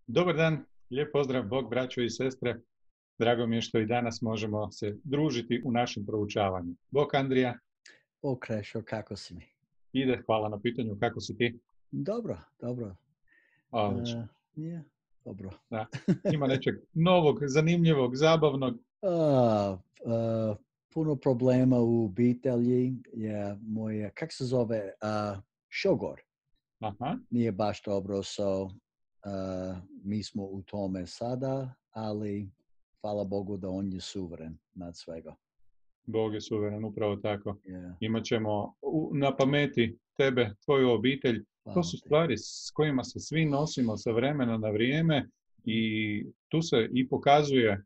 Dobar dan, lijep pozdrav, Bog, braćo i sestre. Drago mi je što i danas možemo se družiti u našem proučavanju. Bog, Andrija, O, Krešo, kako si mi? ide, hvala na pitanju, kako si ti? Dobro, dobro. Odlično, Je, dobro. da. Ima nečeg novog, zanimljivog, zabavnog. A, puno problema u obitelji je moja, kak se zove, šogor. Aha, Nije baš dobro, mi smo u tome sada, ali hvala Bogu da on je suveren nad svega. Bog je suveren, upravo tako. Je, Imaćemo na pameti tebe, tvoju obitelj. To hvala su ti. stvari s kojima se svi nosimo sa vremena na vrijeme i tu se i pokazuje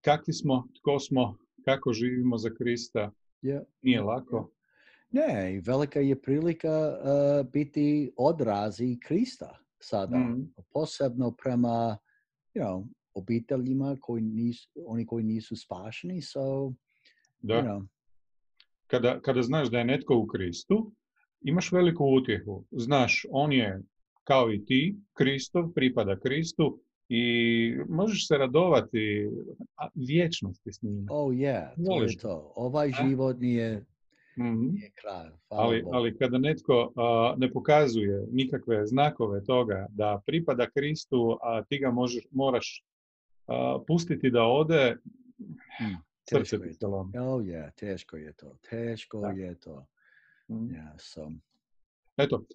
kakvi smo, tko smo, kako živimo za Krista. Je, Nije je, je. lako. Ne, velika je prilika biti odrazi Krista sada, Mm, posebno prema obiteljima oni koji nisu spašeni, you da. know, Kada znaš da je netko u Kristu, imaš veliku utjehu. Znaš, on je kao i ti, Kristov, pripada Kristu i možeš se radovati vječnosti s njime. oh yeah, to je Voliš ga. to. Ovaj A? život Mhm. nije kraj, hvala Ali Bogu. kada netko ne pokazuje nikakve znakove toga da pripada Kristu, a ti ga moraš pustiti da ode, srce Teško ti je se to. lomi. Oh yeah, teško je to. Teško Da. je to. Mhm. Yeah, Eto,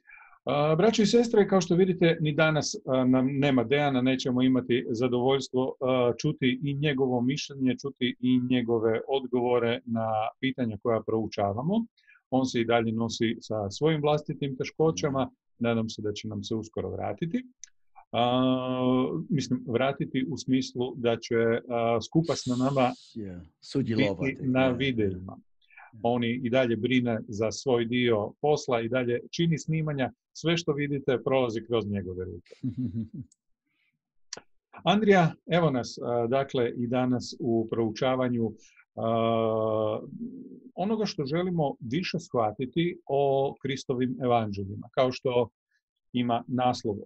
braćo i sestre, kao što vidite, ni danas nam nema Dejana, nećemo imati zadovoljstvo čuti i njegovo mišljenje, čuti i njegove odgovore na pitanja koja proučavamo. On se i dalje nosi sa svojim vlastitim yeah, teškoćama, nadam se da će nam se uskoro vratiti. Mislim, vratiti u smislu da će skupa s nama yeah. biti Sudjelovati. na Yeah, yeah, videima. yeah. On i dalje brine za svoj dio posla i dalje čini snimanja. Sve što vidite prolazi kroz njegove ruke. Andrija, evo nas, dakle, i danas u proučavanju onoga što želimo više shvatiti o Kristovim evanđeljima. Kao što ima naslov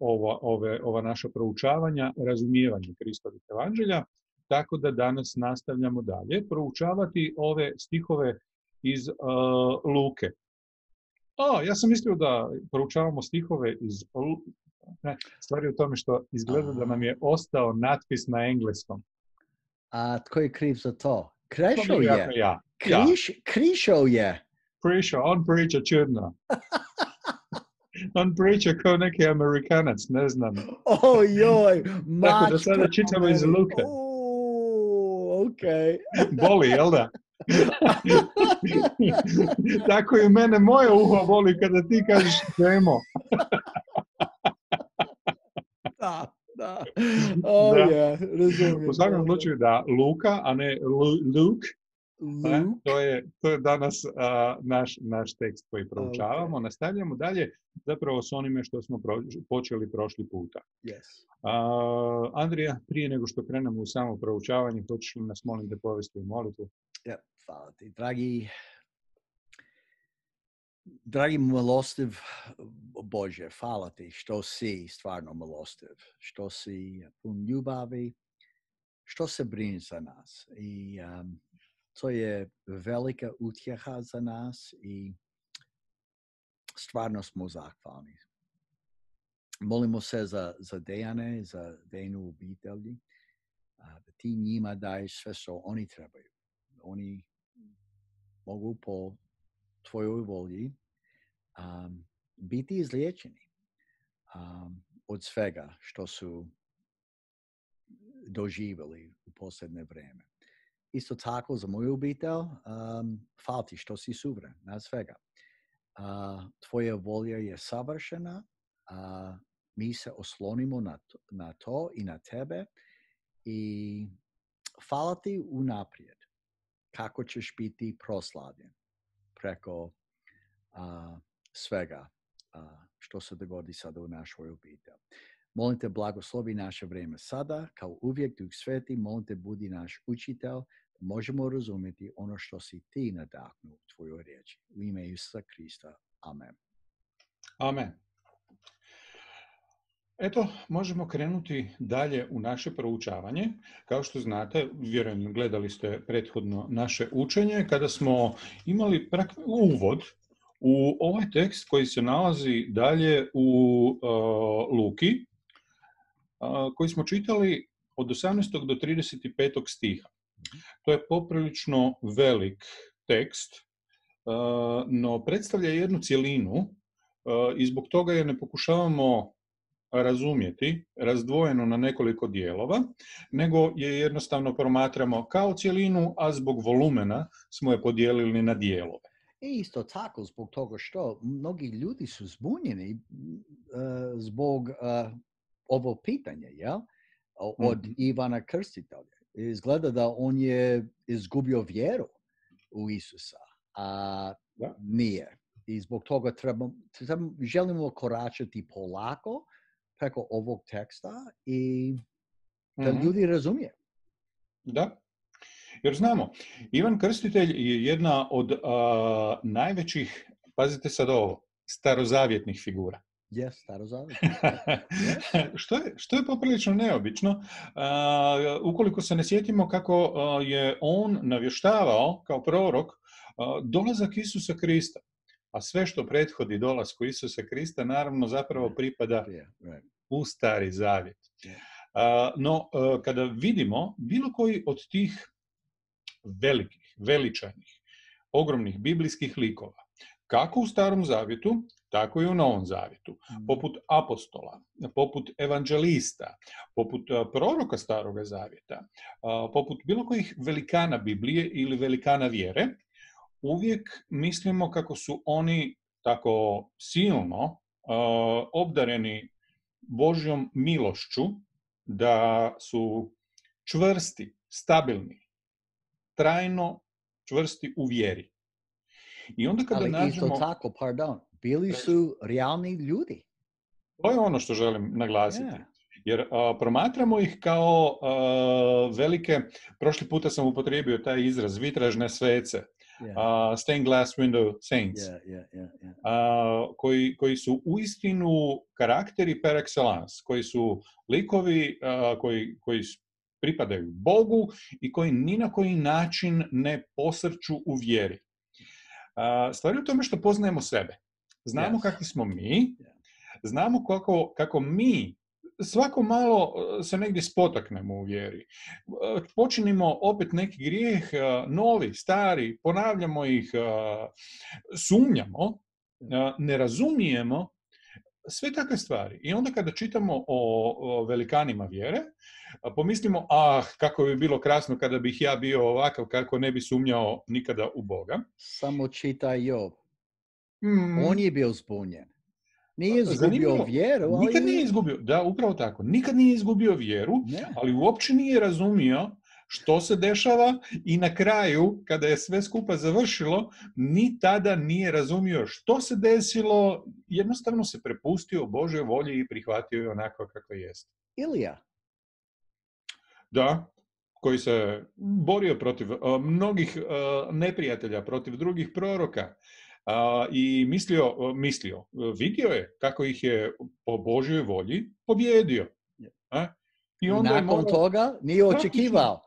ova naša proučavanja, razumijevanje Kristovih evanđelja, tako da danas nastavljamo dalje proučavati ove stihove iz Luke. Ja sam mislio da proučavamo stihove iz ne, stvari u tome što izgleda da nam je ostao natpis na engleskom. A tko je kriv za to? To Krešo vjerojatno je. ja. Ja. Krišo je. On priča čudno. On priča kao neki Amerikanac, ne znam. Oh joj, Tako da mač sada prema čitamo iz meni. Luke. Okay. Boli, jel da? Tako i mene moje uho boli kada ti kažeš demo. Da. Oh Da. yeah, U razumijem. svakom Dobro. slučaju da Luka, a ne Luke, Luke. to je danas naš tekst koji proučavamo. Okay. Nastavljamo dalje zapravo s onime što smo počeli prošli puta. Yes. Andrija, prije nego što krenemo u samo proučavanje, hoćeš li nas molim da povesti u molitvu? Ja, hvala ti. Dragi milostiv Bože, hvala ti što si stvarno milostiv, što si pun ljubavi, što se brini za nas. I to je velika utjeha za nas i stvarno smo zahvalni. Molimo se za Dejane, za Dejnu obitelji, da ti njima daješ sve što oni trebaju. Oni mogu po tvojoj volji biti izliječeni od svega što su doživjeli u posljednje vrijeme. Isto tako za moju obitelj, hvala ti što si suveren nad svega. Tvoja volja je savršena, mi se oslonimo na to i na tebe i hvala ti unaprijed kako ćeš biti proslavljen preko svega što se dogodi sada u našoj obitelji. Molim te, blagoslovi naše vrijeme sada, kao uvijek, Duh Sveti, molim te, budi naš učitelj, da možemo razumjeti ono što si ti nadahnuo u tvojoj riječi. U ime Isusa Krista. Amen. Amen. Eto, možemo krenuti dalje u naše proučavanje. Kao što znate, vjerujem gledali ste prethodno naše učenje, kada smo imali uvod u ovaj tekst koji se nalazi dalje u Luki, koji smo čitali od 18. do 35. stiha. To je poprilično velik tekst, no predstavlja jednu cjelinu i zbog toga je ne pokušavamo razumjeti razdvojeno na nekoliko dijelova, nego je jednostavno promatramo kao cjelinu, a zbog volumena smo je podijelili na dijelove. I isto tako zbog toga što mnogi ljudi su zbunjeni zbog ovo pitanje, jel? Od Ivana Krstitelja. Izgleda da on je izgubio vjeru u Isusa, a nije. I zbog toga želimo koračati polako preko ovog teksta i da ljudi razumije. Da. Jer znamo, Ivan Krstitelj je jedna od najvećih, pazite sad ovo, starozavjetnih figura. Starozavjetnih. Što je poprilično neobično, ukoliko se ne sjetimo kako je on navještavao kao prorok dolazak Isusa Krista. A sve što prethodi dolasku Isusa Krista naravno zapravo pripada u Stari Zavjet. No, kada vidimo bilo koji od tih velikih, veličajnih, ogromnih biblijskih likova, kako u Starom Zavjetu, tako i u Novom Zavjetu, poput apostola, poput evanđelista, poput proroka Staroga Zavjeta, poput bilo kojih velikana Biblije ili velikana vjere, uvijek mislimo kako su oni tako silno obdareni Božjom milošću, da su čvrsti, stabilni, trajno čvrsti u vjeri. I onda kada ali nađemo... isto tako, bili su realni ljudi. To je ono što želim naglasiti. Jer promatramo ih kao velike, prošli puta sam upotrijebio taj izraz, vitražne svece, stained glass window saints, koji su uistinu karakteri par excellence, koji su likovi koji pripadaju Bogu i koji ni na koji način ne posrću u vjeri. Stvar je u tome što poznajemo sebe. Znamo kakvi smo mi, znamo kako mi svako malo se negdje spotaknemo u vjeri. Počinimo opet neki grijeh, novi, stari, ponavljamo ih, sumnjamo, ne razumijemo, sve takve stvari. I onda kada čitamo o velikanima vjere, pomislimo, kako bi bilo krasno kada bih ja bio ovakav, kako ne bi sumnjao nikada u Boga. Samo čitaj Job. On je bio zbunjen. Nije izgubio Zanimljivo. vjeru. Nikad nije izgubio, da, upravo tako. Nikad nije izgubio vjeru, ali uopće nije razumio što se dešava i na kraju, kada je sve skupa završilo, ni tada nije razumio što se desilo, jednostavno se prepustio Božoj volji i prihvatio je onako kako jest. Ilija. Da, koji se borio protiv mnogih neprijatelja, protiv drugih proroka. I vidio je kako ih je po Božjoj volji pobjedio. I onda nakon toga nije očekivao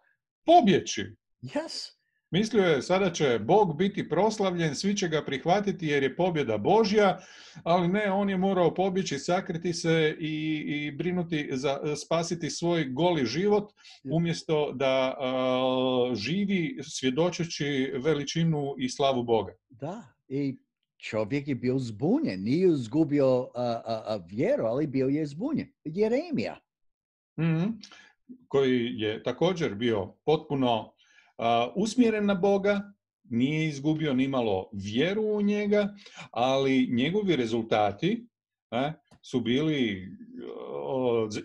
pobjeći. Yes. Mislio je, sada će Bog biti proslavljen, svi će ga prihvatiti jer je pobjeda Božja, ali ne, on je morao pobjeći, sakriti se i brinuti spasiti svoj goli život, umjesto da živi svjedočeći veličinu i slavu Boga. Da, i čovjek je bio zbunjen, nije izgubio vjeru, ali bio je zbunjen. Jeremija. Koji je također bio potpuno usmjeren na Boga, nije izgubio nimalo vjeru u njega, ali njegovi rezultati su bili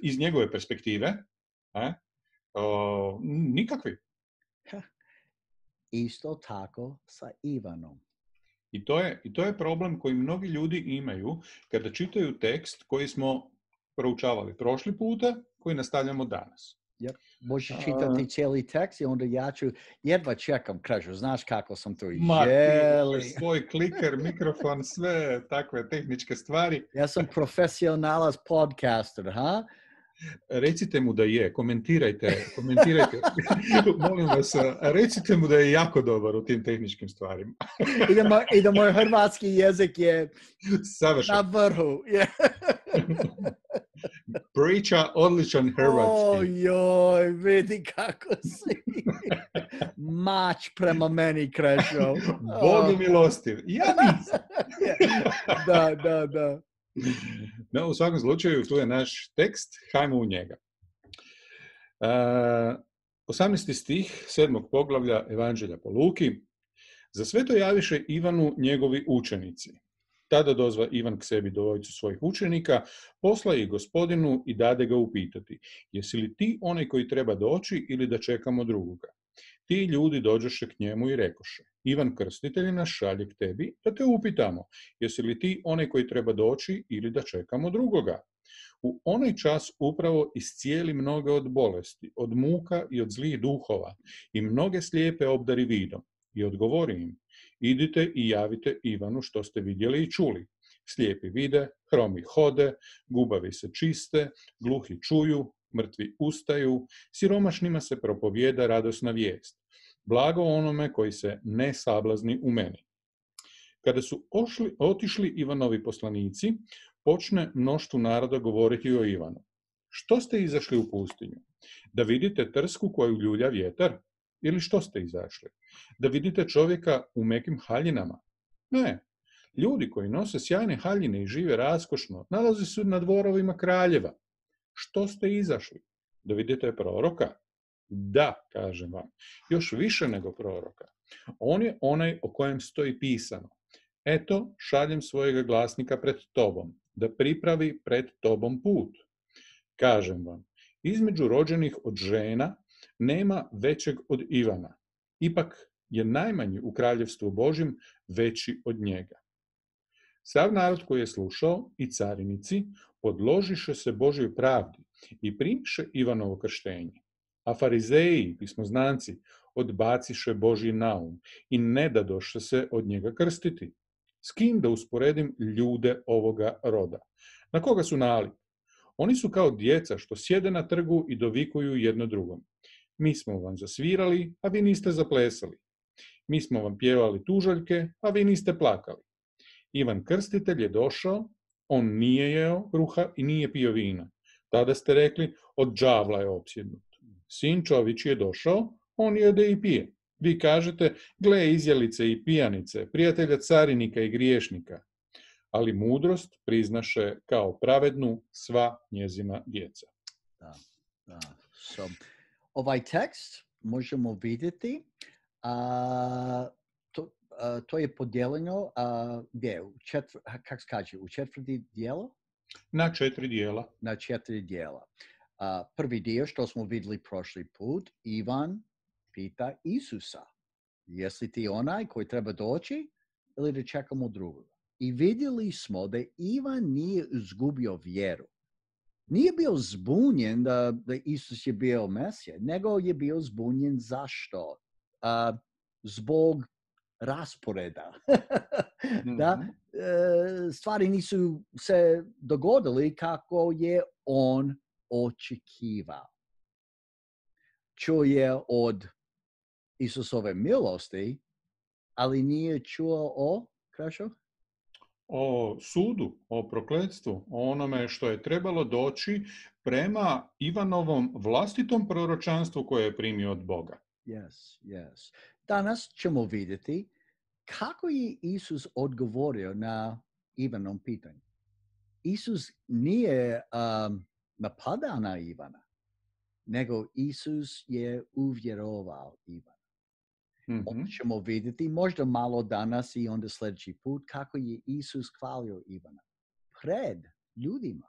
iz njegove perspektive nikakvi. Isto tako sa Ivanom. I to je problem koji mnogi ljudi imaju kada čitaju tekst koji smo proučavali prošli puta, koji nastavljamo danas. Yep. Možeš čitati cijeli tekst i onda ja ću, jedva čekam, kažu, znaš kako sam to i Ma, ti želi. imaš svoj kliker, mikrofon, sve takve tehničke stvari. Ja sam profesionalac podcaster, ha? Recite mu da je, komentirajte. Molim vas, recite mu da je jako dobar u tim tehničkim stvarima. I da moj hrvatski jezik je Savršen. na vrhu. Priča odličan hrvatski. Ojoj, vidi kako si. Mač prema meni, Krešo. Bog je milostiv. Ja nisam. Da. No, u svakom slučaju, tu je naš tekst, hajmo u njega. 18. stih 7. poglavlja Evanđelja po Luki. Za sve to javiše Ivanu njegovi učenici. Tada dozva Ivan k sebi dvojicu svojih učenika, posla ih Gospodinu i dade ga upitati, jesi li ti onaj koji treba doći ili da čekamo drugoga? Ti ljudi dođoše k njemu i rekoše, Ivan Krstitelj nas šalje k tebi, da te upitamo, jesi li ti onaj koji treba doći ili da čekamo drugoga? U onaj čas upravo iscijeli mnoge od bolesti, od muka i od zlih duhova i mnoge slijepe obdari vidom. I odgovori im, idite i javite Ivanu što ste vidjeli i čuli. Slijepi vide, hromi hode, gubavi se čiste, gluhi čuju, mrtvi ustaju, siromašnima se propovijeda radosna vijest. Blago onome koji se ne sablazni u meni. Kada su otišli Ivanovi poslanici, počne mnoštvu naroda govoriti o Ivanu. Što ste izašli u pustinju? Da vidite trsku koju ljulja vjetar? Ili što ste izašli? Da vidite čovjeka u mekim haljinama? Ne. Ljudi koji nose sjajne haljine i žive raskošno, nalaze se na dvorovima kraljeva. Što ste izašli? Da vidite proroka? Da, kažem vam, još više nego proroka. On je onaj o kojem stoji pisano. Eto, šaljem svojega glasnika pred tobom, da pripravi pred tobom put. Kažem vam, između rođenih od žena nema većeg od Ivana. Ipak je najmanji u kraljevstvu Božjem veći od njega. Sav narod koji je slušao i carinici podložiše se Božjoj pravdi i primiše Ivanovo krštenje. A farizeji, pismoznanci, odbaciše Božji naum i ne dadoše se od njega krstiti. S kim da usporedim ljude ovoga roda? Na koga su nalik? Oni su kao djeca što sjede na trgu i dovikuju jedno drugom. Mi smo vam zasvirali, a vi niste zaplesali. Mi smo vam pjevali tužaljke, a vi niste plakali. Ivan Krstitelj je došao, on nije jeo kruha i nije pio vina. Tada ste rekli, od đavla je opsjednut. Sin čovječji je došao, on jede i pije. Vi kažete, gle izjelice i pijanice, prijatelja carinika i griješnika. Ali mudrost priznaše kao pravednu sva njezina djeca. Da. So, ovaj tekst možemo vidjeti, to je podijeljeno, gdje? Kako se kaže, u četvrti dijelo? Na 4 dijela. Na 4 dijela. Prvi dio što smo vidjeli prošli put, Ivan pita Isusa, jesi ti onaj koji treba doći ili da čekamo drugoga? I vidjeli smo da Ivan nije izgubio vjeru. Nije bio zbunjen da Isus je bio Mesija, nego je bio zbunjen zašto? Zbog rasporeda. Da? Stvari nisu se dogodili kako je on očekivao. Čuje od Isusove milosti, ali nije čuo o, Krašo? O sudu, o prokletstvu, o onome što je trebalo doći prema Ivanovom vlastitom proročanstvu koje je primio od Boga. Yes. Danas ćemo vidjeti kako je Isus odgovorio na Ivanom pitanju. Isus nije napadao na Ivana, nego Isus je uvjerovao Ivana. Onda ćemo vidjeti možda malo danas i onda sljedeći put kako je Isus hvalio Ivana pred ljudima.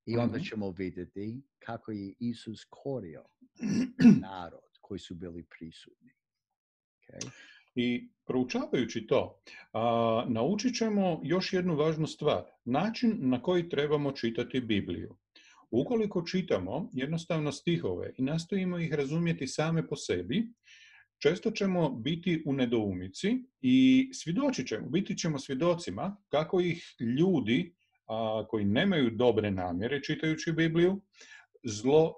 I onda ćemo vidjeti kako je Isus korio narod koji su bili prisutni. Okay? I proučavajući to, naučit ćemo još jednu važnu stvar. Način na koji trebamo čitati Bibliju. Ukoliko čitamo jednostavno stihove i nastojimo ih razumjeti same po sebi, često ćemo biti u nedoumici i biti ćemo svjedocima kako ih ljudi koji nemaju dobre namjere čitajući Bibliju, zlo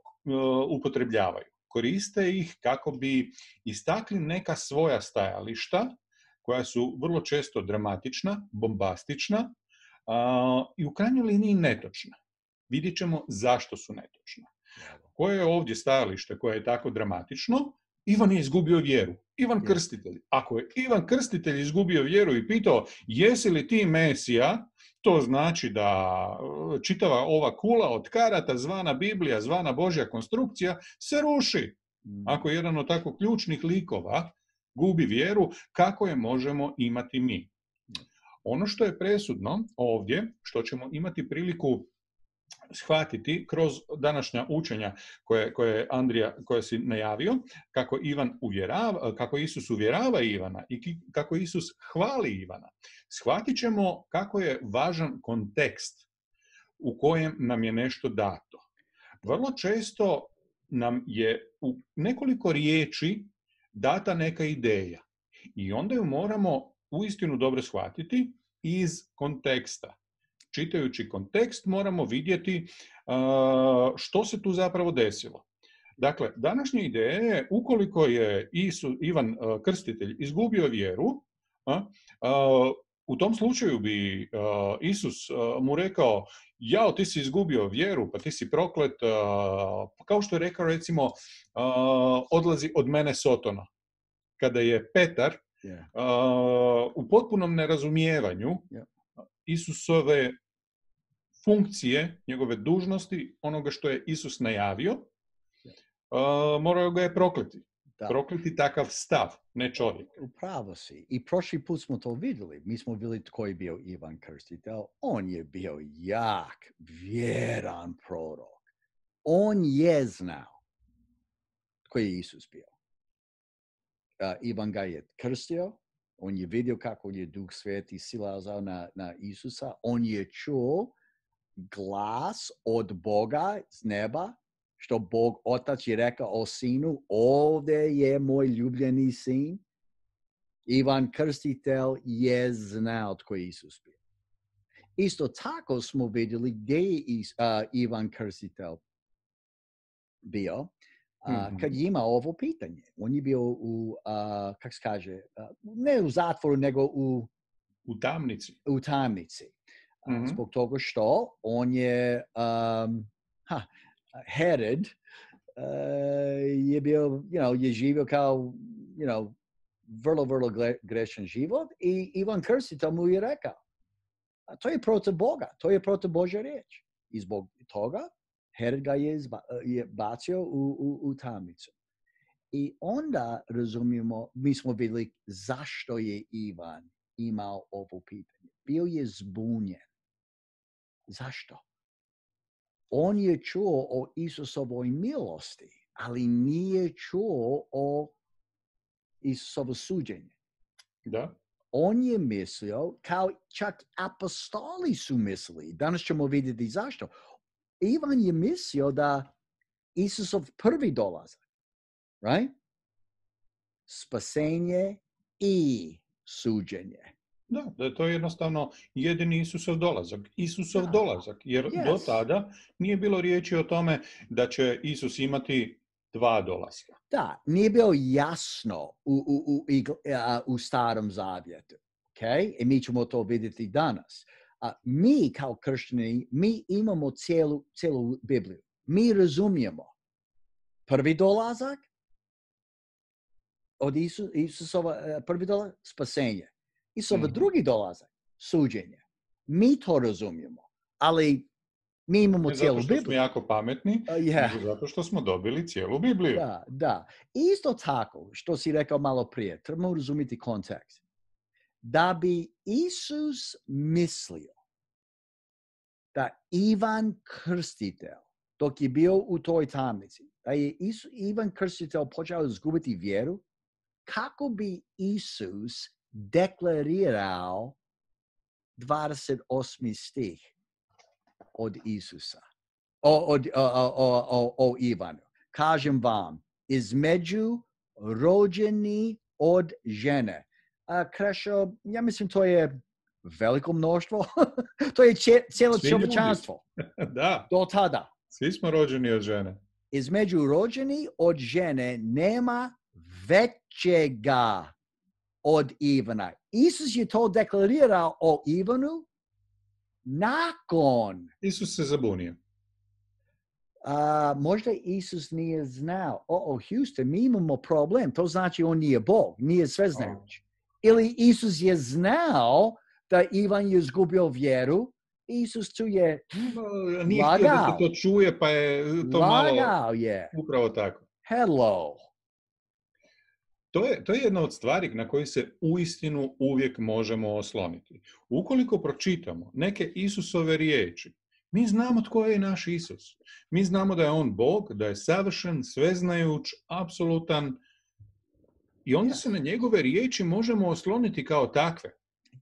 upotrebljavaju. Koriste ih kako bi istakli neka svoja stajališta, koja su vrlo često dramatična, bombastična i u krajnjoj liniji netočna. Vidjet ćemo zašto su netočna. Koje je ovdje stajalište koje je tako dramatično? Ivan je izgubio vjeru. Ivan Krstitelj. Ako je Ivan Krstitelj izgubio vjeru i pitao jesi li ti Mesija, to znači da čitava ova kula od karata zvana Biblija, zvana Božja konstrukcija se ruši. Ako jedan od tako ključnih likova gubi vjeru, kako je možemo imati mi? Ono što je presudno ovdje, što ćemo imati priliku shvatiti kroz današnja učenja koje Andrija, koje si najavio, kako Isus uvjerava Ivana i kako Isus hvali Ivana, shvatit ćemo kako je važan kontekst u kojem nam je nešto dato. Vrlo često nam je u nekoliko riječi data neka ideja i onda ju moramo uistinu dobro shvatiti iz konteksta. Čitajući kontekst moramo vidjeti što se tu zapravo desilo. Dakle, današnja ideja je, ukoliko je Ivan Krstitelj izgubio vjeru, u tom slučaju bi Isus mu rekao, jao, ti si izgubio vjeru, pa ti si proklet, kao što je rekao, recimo, odlazi od mene Sotona. Kada je Petar u potpunom nerazumijevanju Isusove funkcije, njegove dužnosti, onoga što je Isus najavio, morao ga je prokleti. Da. Prokleti takav stav, ne čovjek. Upravo si. I prošli put smo to vidjeli. Mi smo vidjeli tko je bio Ivan Krstitelj. On je bio jak, vjeran prorok. On je znao tko je Isus bio. Ivan ga je krstio. On je vidio kako je Duh Sveti silazao na Isusa. On je čuo glas od Boga z neba, što Bog Otac je rekao o sinu, ovdje je moj ljubljeni sin. Ivan Krstitelj je znao tko je Isus bio. Isto tako smo vidjeli gdje je Ivan Krstitelj bio, kad je imao ovo pitanje. On je bio kako se kaže, ne u zatvoru, nego u tamnici. U tamnici. Zbog toga što on je Herod je bio, je živio kao, vrlo grešan život i Ivan Krstitelj mu je rekao, a to je protiv Boga, to je protiv Božja riječ. I zbog toga Herod ga je bacio u tamnicu. I onda razumijemo, mi smo vidjeli zašto je Ivan imao ovo pitanje. Bio je zbunjen. Zašto? On je čuo o Isusovoj milosti, ali nije čuo o Isusovo suđenje. Da. On je mislio, kao čak apostoli su mislili, danas ćemo vidjeti zašto. Ivan je mislio da Isusov prvi dolazak, right? Spasenje i suđenje. Da je to jednostavno jedini Isusov dolazak. Jer do tada nije bilo riječi o tome da će Isus imati 2 dolaska. Da, nije bilo jasno u Starom Zavjetu. Okay? I mi ćemo to vidjeti danas. Mi kao kršćani, mi imamo cijelu Bibliju. Mi razumijemo prvi dolazak od Isusova, prvi dolazak, spasenje. Isusova drugi dolazak, suđenje. Mi to razumijemo, ali mi imamo cijelu Bibliju. Zato što smo jako pametni, nego zato što smo dobili cijelu Bibliju. Da. Isto tako, što si rekao malo prije, trebamo razumjeti kontekst. Da bi Isus mislio da Ivan Krstitelj, dok je bio u toj tamnici, da je Ivan Krstitelj počeo izgubiti vjeru, kako bi Isus deklarirao 28. stih od Isusa. o Ivanu. Kažem vam, između rođeni od žene. Krešo, ja mislim to je veliko mnoštvo. To je cijelo čovječanstvo. Da. Do tada. Svi smo rođeni od žene. Između rođeni od žene nema većega od Ivana. Isus je to deklarirao o Ivanu nakon. Isus se zabunio. Možda Isus nije znao. Houston, mi imamo problem. To znači on nije Bog, nije sveznajući. Ili Isus je znao da Ivan je izgubio vjeru. Isus tu je nije htio da se to čuje, pa je to malo je. Upravo tako. Hello. To je jedna od stvari na koje se uistinu uvijek možemo osloniti. Ukoliko pročitamo neke Isusove riječi, mi znamo tko je naš Isus. Mi znamo da je on Bog, da je savršen, sveznajuć, apsolutan. I onda se na njegove riječi možemo osloniti kao takve.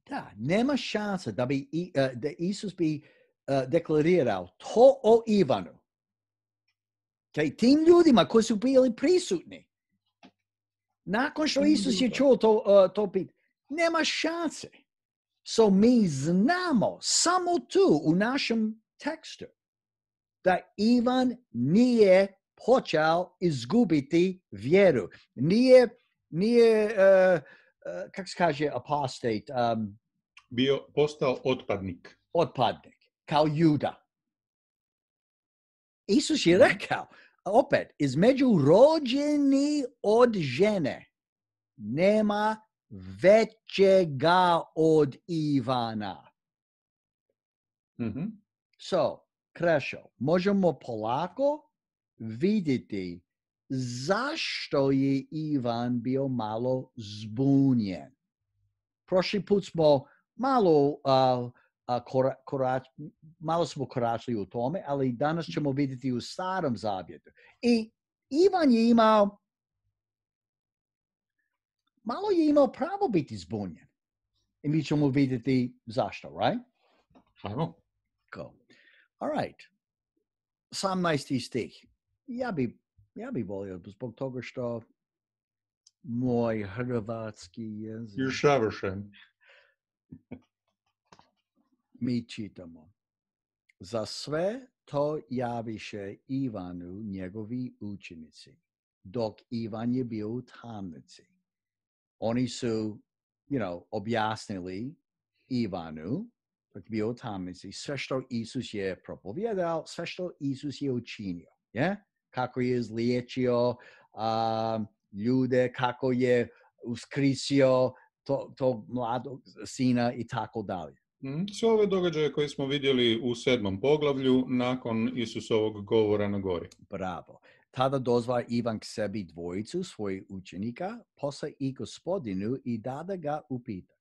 Da, nema šanse da Isus bi deklarirao to o Ivanu. Tim ljudima koji su bili prisutni. Nakon što Isus je čuo to pitanje, nema šanse. So mi znamo samo tu u našem tekstu da Ivan nije počeo izgubiti vjeru. Nije kako se kaže apostate? Postao otpadnik. Otpadnik, kao Juda. Isus je rekao, opet, između rođeni od žene nema većega od Ivana. Mm-hmm. So, Krešo, možemo polako vidjeti zašto je Ivan bio malo zbunjen. Prošli put smo malo smo koračili u tome, ali danas ćemo vidjeti u Starom zavjetu. I Ivan je malo je imao pravo biti zbunjen. I mi ćemo vidjeti zašto, right? Ajmo. Go. All right. 18. stih. Ja bi volio zbog toga što moj hrvatski jezik... You're savršen. Mi čitamo. Za sve to javiše Ivanu njegovi učenici, dok Ivan je bio u tamnici. Oni su, objasnili Ivanu, dok je bio u tamnici, sve što Isus je propovijedao, sve što Isus je učinio. Yeah? Kako je izliječio ljude, kako je uskrisio tog mladog sina i tako dalje. Sve ove događaje koje smo vidjeli u 7. poglavlju nakon Isusovog govora na gori. Bravo. Tada dozva Ivan k sebi dvojicu svojih učenika, posle i Gospodinu i da ga upita.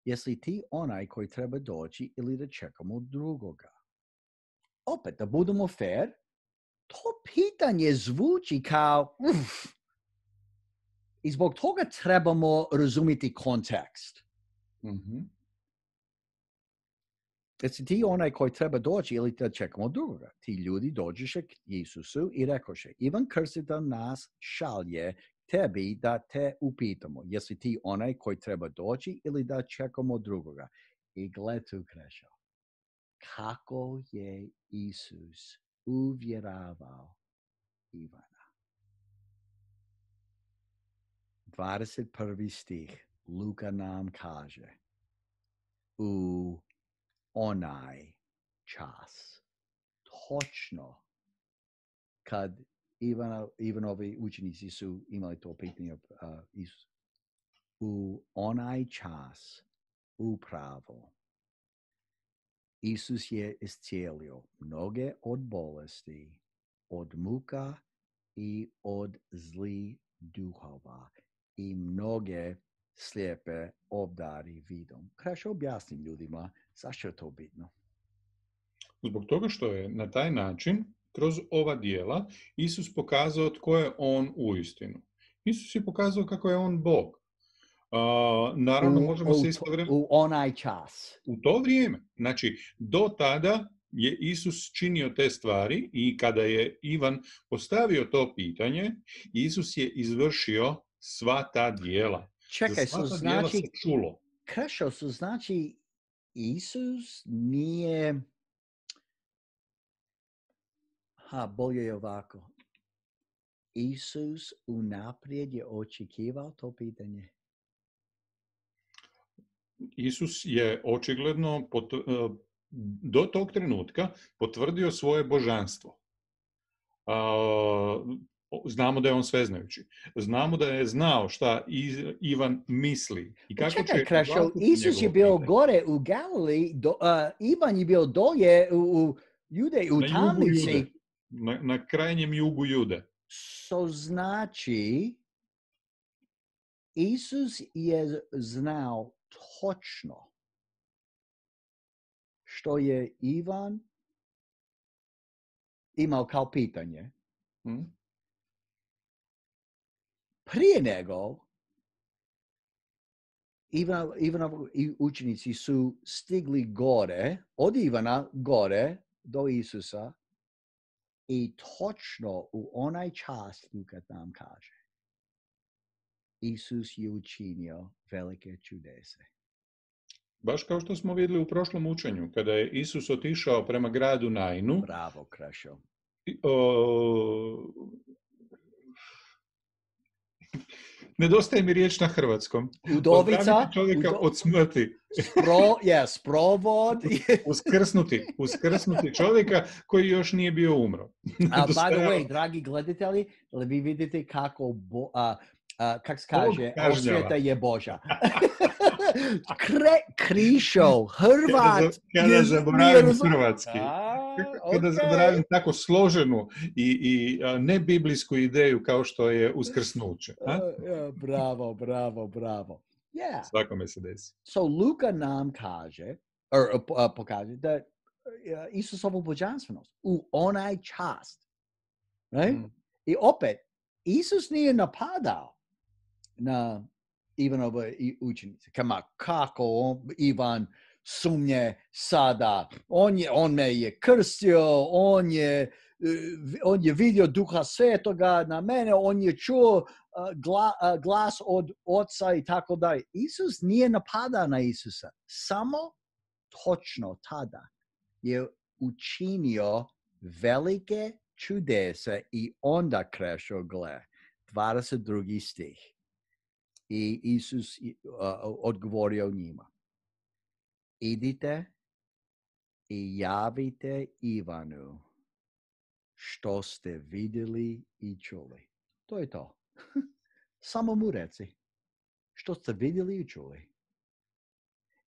Jesi ti onaj koji treba doći ili da čekamo drugoga? Opet, da budemo fair, to pitanje zvuči kao i zbog toga trebamo razumjeti kontekst. Mm-hmm. Jesi ti onaj koji treba doći ili da čekamo drugoga? Ti ljudi dođeše k Isusu i rekoše, Ivan Krstitelj nas šalje tebi da te upitamo. Jesi ti onaj koji treba doći ili da čekamo drugoga? I gled tu, Krešo, kako je Isus uvjeravao Ivana. 21. stih Luka nam kaže, u onaj čas, točno kad Ivanovi učenici su imali to pitanje Isus, u onaj čas upravo Isus je iscijelio mnoge od bolesti, od muka i od zlih duhova i mnoge slijepe obdari vidom. Krešo, objasnim ljudima zašto je to bitno. Zbog toga što je na taj način, kroz ova dijela, Isus pokazao tko je on uistinu. Isus je pokazao kako je on Bog. Naravno, možemo se istovremeno... U onaj čas. U to vrijeme. Znači, do tada je Isus činio te stvari i kada je Ivan postavio to pitanje, Isus je izvršio sva ta djela. Čekaj, Za sva ta djela se čulo. Krešo su znači Isus nije... bolje je ovako. Isus unaprijed je očekivao to pitanje. Isus je očigledno do tog trenutka potvrdio svoje božanstvo. Znamo da je on sveznajući. Znamo da je znao šta Ivan misli. I kako čekaj, Krešo, Isus je bio gore u Galiliji, Ivan je bio dolje u Judeji, u tamnici. Na krajnjem jugu Jude. Znači, Isus je znao točno što je Ivan imao kao pitanje. Prije nego Ivanovi učenici su stigli gore, od Ivana gore do Isusa i točno u onaj čas Luka nam kaže. Isus je učinio velike čudese. Baš kao što smo vidjeli u prošlom učenju, kada je Isus otišao prema gradu Nainu. Bravo, Krešo. Nedostaje mi riječ na hrvatskom. Udovica. Čovjeka od smrti. Sprovod. Uskrsnuti čovjeka koji još nije bio umro. By the way, dragi gledatelji, vi vidite kako kak se kaže, osvjeta je Božja. Krišo, Hrvat. Kada zaboravim hrvatski. Kada zaboravim tako složenu i nebiblijsku ideju kao što je uskrsnuće. Bravo. Yeah. Svakome se desi. So Luka nam kaže, pokaže da Isusovu božanstvenost u onaj čast. Right? I opet, Isus nije napadao na Ivanove učenice. Kako Ivan sumnje sada? On me je krstio, on je vidio Duha Svetoga na mene, on je čuo glas od Oca i tako dalje. Isus nije napadao na Isusa. Samo točno tada je učinio velike čudese i onda Krešo gle. 22. stih. I Isus odgovorio njima. Idite i javite Ivanu što ste vidjeli i čuli. To je to. Samo mu reci. Što ste vidjeli i čuli.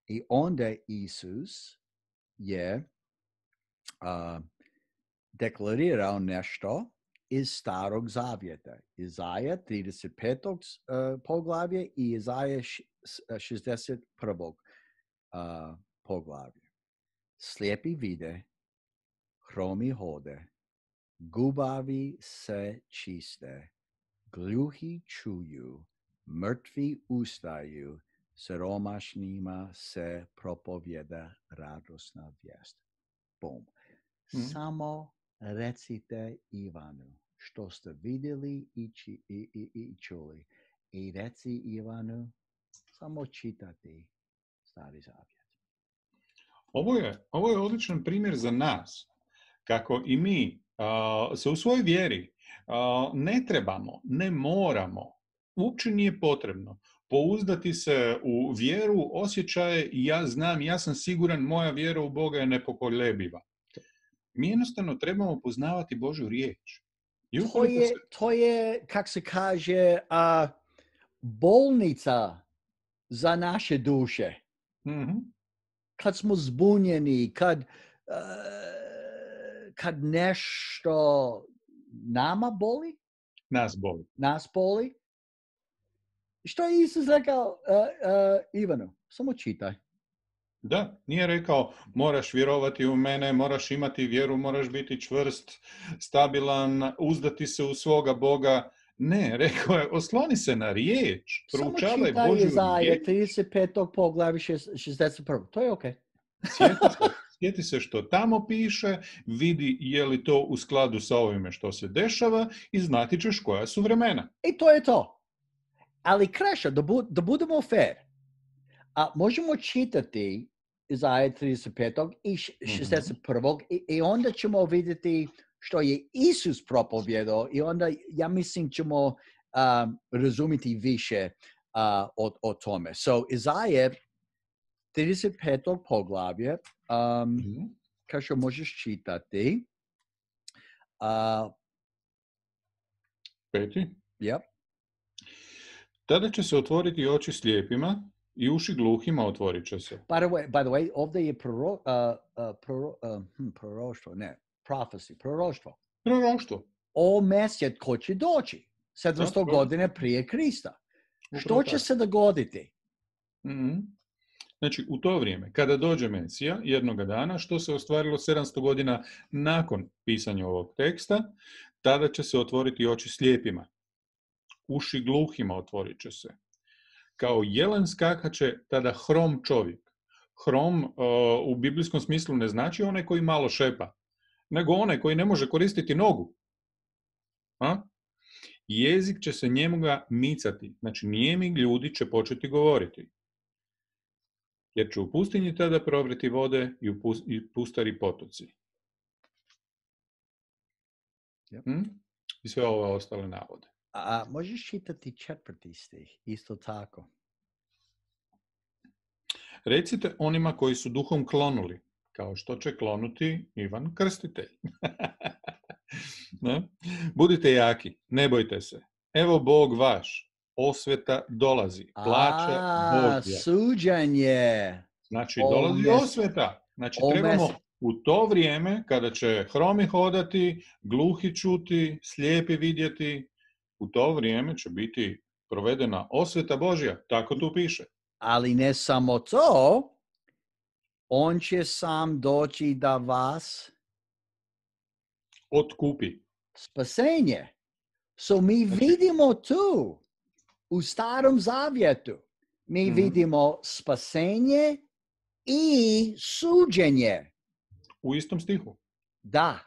I onda Isus je deklarirao nešto iz Starog Zavjeta. Izaja 35. Poglavlje i Izaja 61. Poglavlje. Slijepi vide, hromi hode, gubavi se čiste, gluhi čuju, mrtvi ustaju, siromašnima se propovjeda radosna vijest. Boom. Samo recite Ivanu što ste vidjeli i čuli. I reci Ivanu samo čitati Stari Zavjet. Ovo je odličan primjer za nas. Kako i mi se u svojoj vjeri ne trebamo, ne moramo, uopće nije potrebno pouzdati se u vjeru, osjećaje i ja znam, ja sam siguran, moja vjera u Boga je nepokolebljiva. Mi jednostavno trebamo poznavati Božju riječ. To je, kak se kaže, bolnica za naše duše. Mm-hmm. Kad smo zbunjeni, kad nešto nama boli. Nas boli. Što je Isus rekao Ivanu? Samo čitaj. Da, nije rekao moraš vjerovati u mene, moraš imati vjeru, moraš biti čvrst, stabilan, uzdati se u svoga Boga. Ne, rekao je osloni se na riječ, proučavaj Božju riječ. 35. poglavlje 61. To je okej. sjeti se što tamo piše, vidi je li to u skladu sa ovime što se dešava i znati ćeš koja su vremena. I to je to. Ali Krešo, da budemo fair, možemo čitati Izaja 35. i 61. I onda ćemo vidjeti što je Isus propovjedao i onda, ja mislim, ćemo razumjeti više o tome. So, Izaja 35. poglavlje, Krešo, možeš čitati. 5. Yep. Tada će se otvoriti oči slijepima i uši gluhima otvorit će se. By the way, ovdje je proroštvo. Proroštvo. O Mesiju ko će doći 700 godine prije Krista. Što će se dogoditi? Znači, u to vrijeme, kada dođe Mesija, jednoga dana, što se ostvarilo 700 godina nakon pisanja ovog teksta, tada će se otvoriti oči slijepima. Uši gluhima otvorit će se. Kao jelen skakaće tada hrom čovjek. Hrom u biblijskom smislu ne znači onaj koji malo šepa, nego onaj koji ne može koristiti nogu. Jezik će se njemu ga micati. Znači, nijemi ljudi će početi govoriti. Jer će u pustinji tada provriti vode i pustari potoci. I sve ove ostale navode. Možeš čitati 4. stih, isto tako. Recite onima koji su duhom klonuli, kao što će klonuti Ivan Krstitelj. Budite jaki, ne bojte se. Evo Bog vaš, osveta dolazi, plaća Božja. Suđenje. Znači, dolazi osveta. Znači, trebamo u to vrijeme, kada će hromi hodati, gluhi čuti, slijepi vidjeti, u to vrijeme će biti provedena osveta Božja. Tako tu piše. Ali ne samo to, on će sam doći da vas otkupi. Spasenje. So mi vidimo tu, u Starom Zavjetu, mi vidimo spasenje i suđenje. U istom stihu. Da.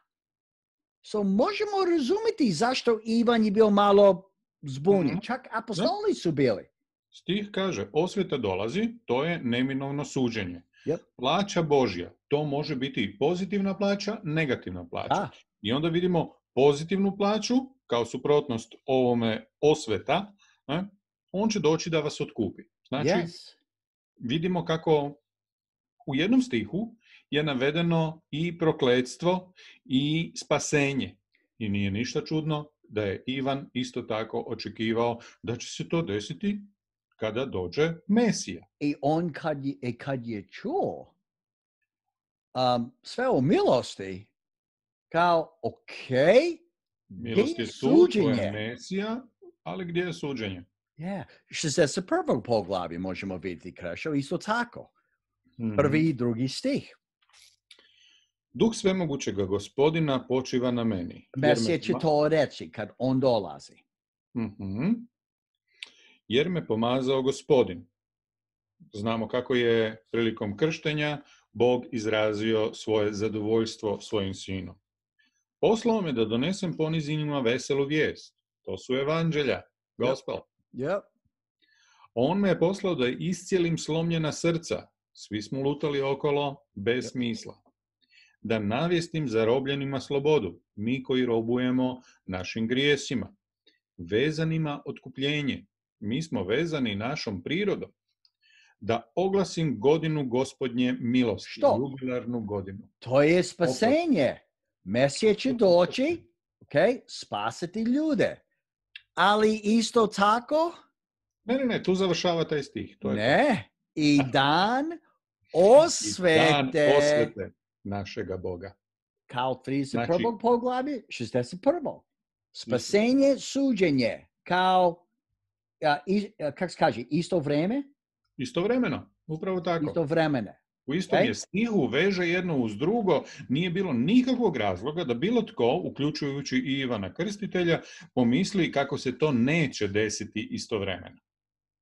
So možemo razumjeti zašto Ivan je bio malo zbunjen. Čak apostoli su bili. Stih kaže, osveta dolazi, to je neminovno suđenje. Yep. Plaća Božja, to može biti i pozitivna plaća, negativna plaća. I onda vidimo pozitivnu plaću, kao suprotnost ovome osveta, on će doći da vas otkupi. Znači, vidimo kako u jednom stihu je navedeno i prokletstvo i spasenje. I nije ništa čudno da je Ivan isto tako očekivao da će se to desiti kada dođe Mesija. I on kad je čuo sve o milosti, kao, milost je tu, to je Mesija, ali gdje je suđenje? 61. poglavlje možemo vidjeti, Krešo, isto tako. Prvi i drugi stih. Duh svemogućega Gospodina počiva na meni. Mesija će to reći kad on dolazi. Jer me pomazao Gospodin. Znamo kako je prilikom krštenja Bog izrazio svoje zadovoljstvo svojim sinom. Poslao me da donesem ponizinima veselu vijest. To su evanđelja, gospel. Yep. On me je poslao da iscijelim slomljena srca. Svi smo lutali okolo bez smisla. Da navijestim zarobljenima slobodu, mi koji robujemo našim grijesima. Vezanima otkupljenje, mi smo vezani našom prirodom. Da oglasim godinu Gospodnje milosti. Što? Jubilarnu godinu. To je spasenje. Mesija će doći, spasiti ljude. Ali isto tako? Ne, tu završava taj stih. To je i dan osvete. I dan osvete našega Boga. Kao 31. poglavlje, 61. Spasenje, suđenje. Kao, kako se kaže, isto vrijeme? Istovremeno, upravo tako. Istovremeno. U istom je stihu, veže jedno uz drugo, nije bilo nikakvog razloga da bilo tko, uključujući i Ivana Krstitelja, pomisli kako se to neće desiti istovremeno.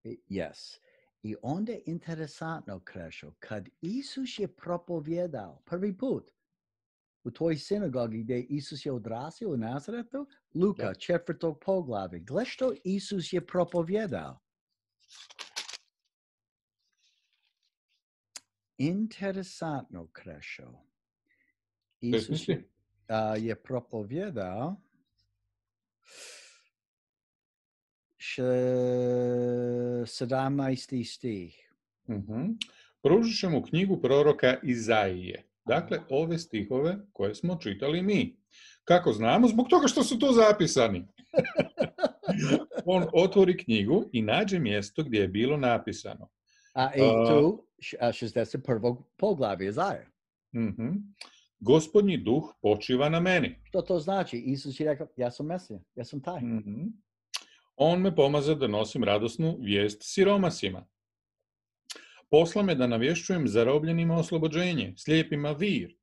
Yes. I onda je interesantno, Krešo, kad Isus je propovjedao prvi put u tvojoj sinagogi gdje Isus je odrasio u Nazaretu, Luka, 4. poglavlje. Gle što Isus je propovjedao. Interesantno, Krešo. Isus je propovjedao 17. stih. Pružit ćemo knjigu proroka Izaije. Dakle, ove stihove koje smo čitali mi. Kako znamo? Zbog toga što su to zapisani. On otvori knjigu i nađe mjesto gdje je bilo napisano. I tu 61. poglavlje Izaije. Gospodnji duh počiva na meni. Što to znači? Isus je rekao, ja sam Mesija, ja sam taj. On me pomaže da nosim radosnu vijest siromasima. Posla me da navješćujem zarobljenima oslobođenje, slijepima vir,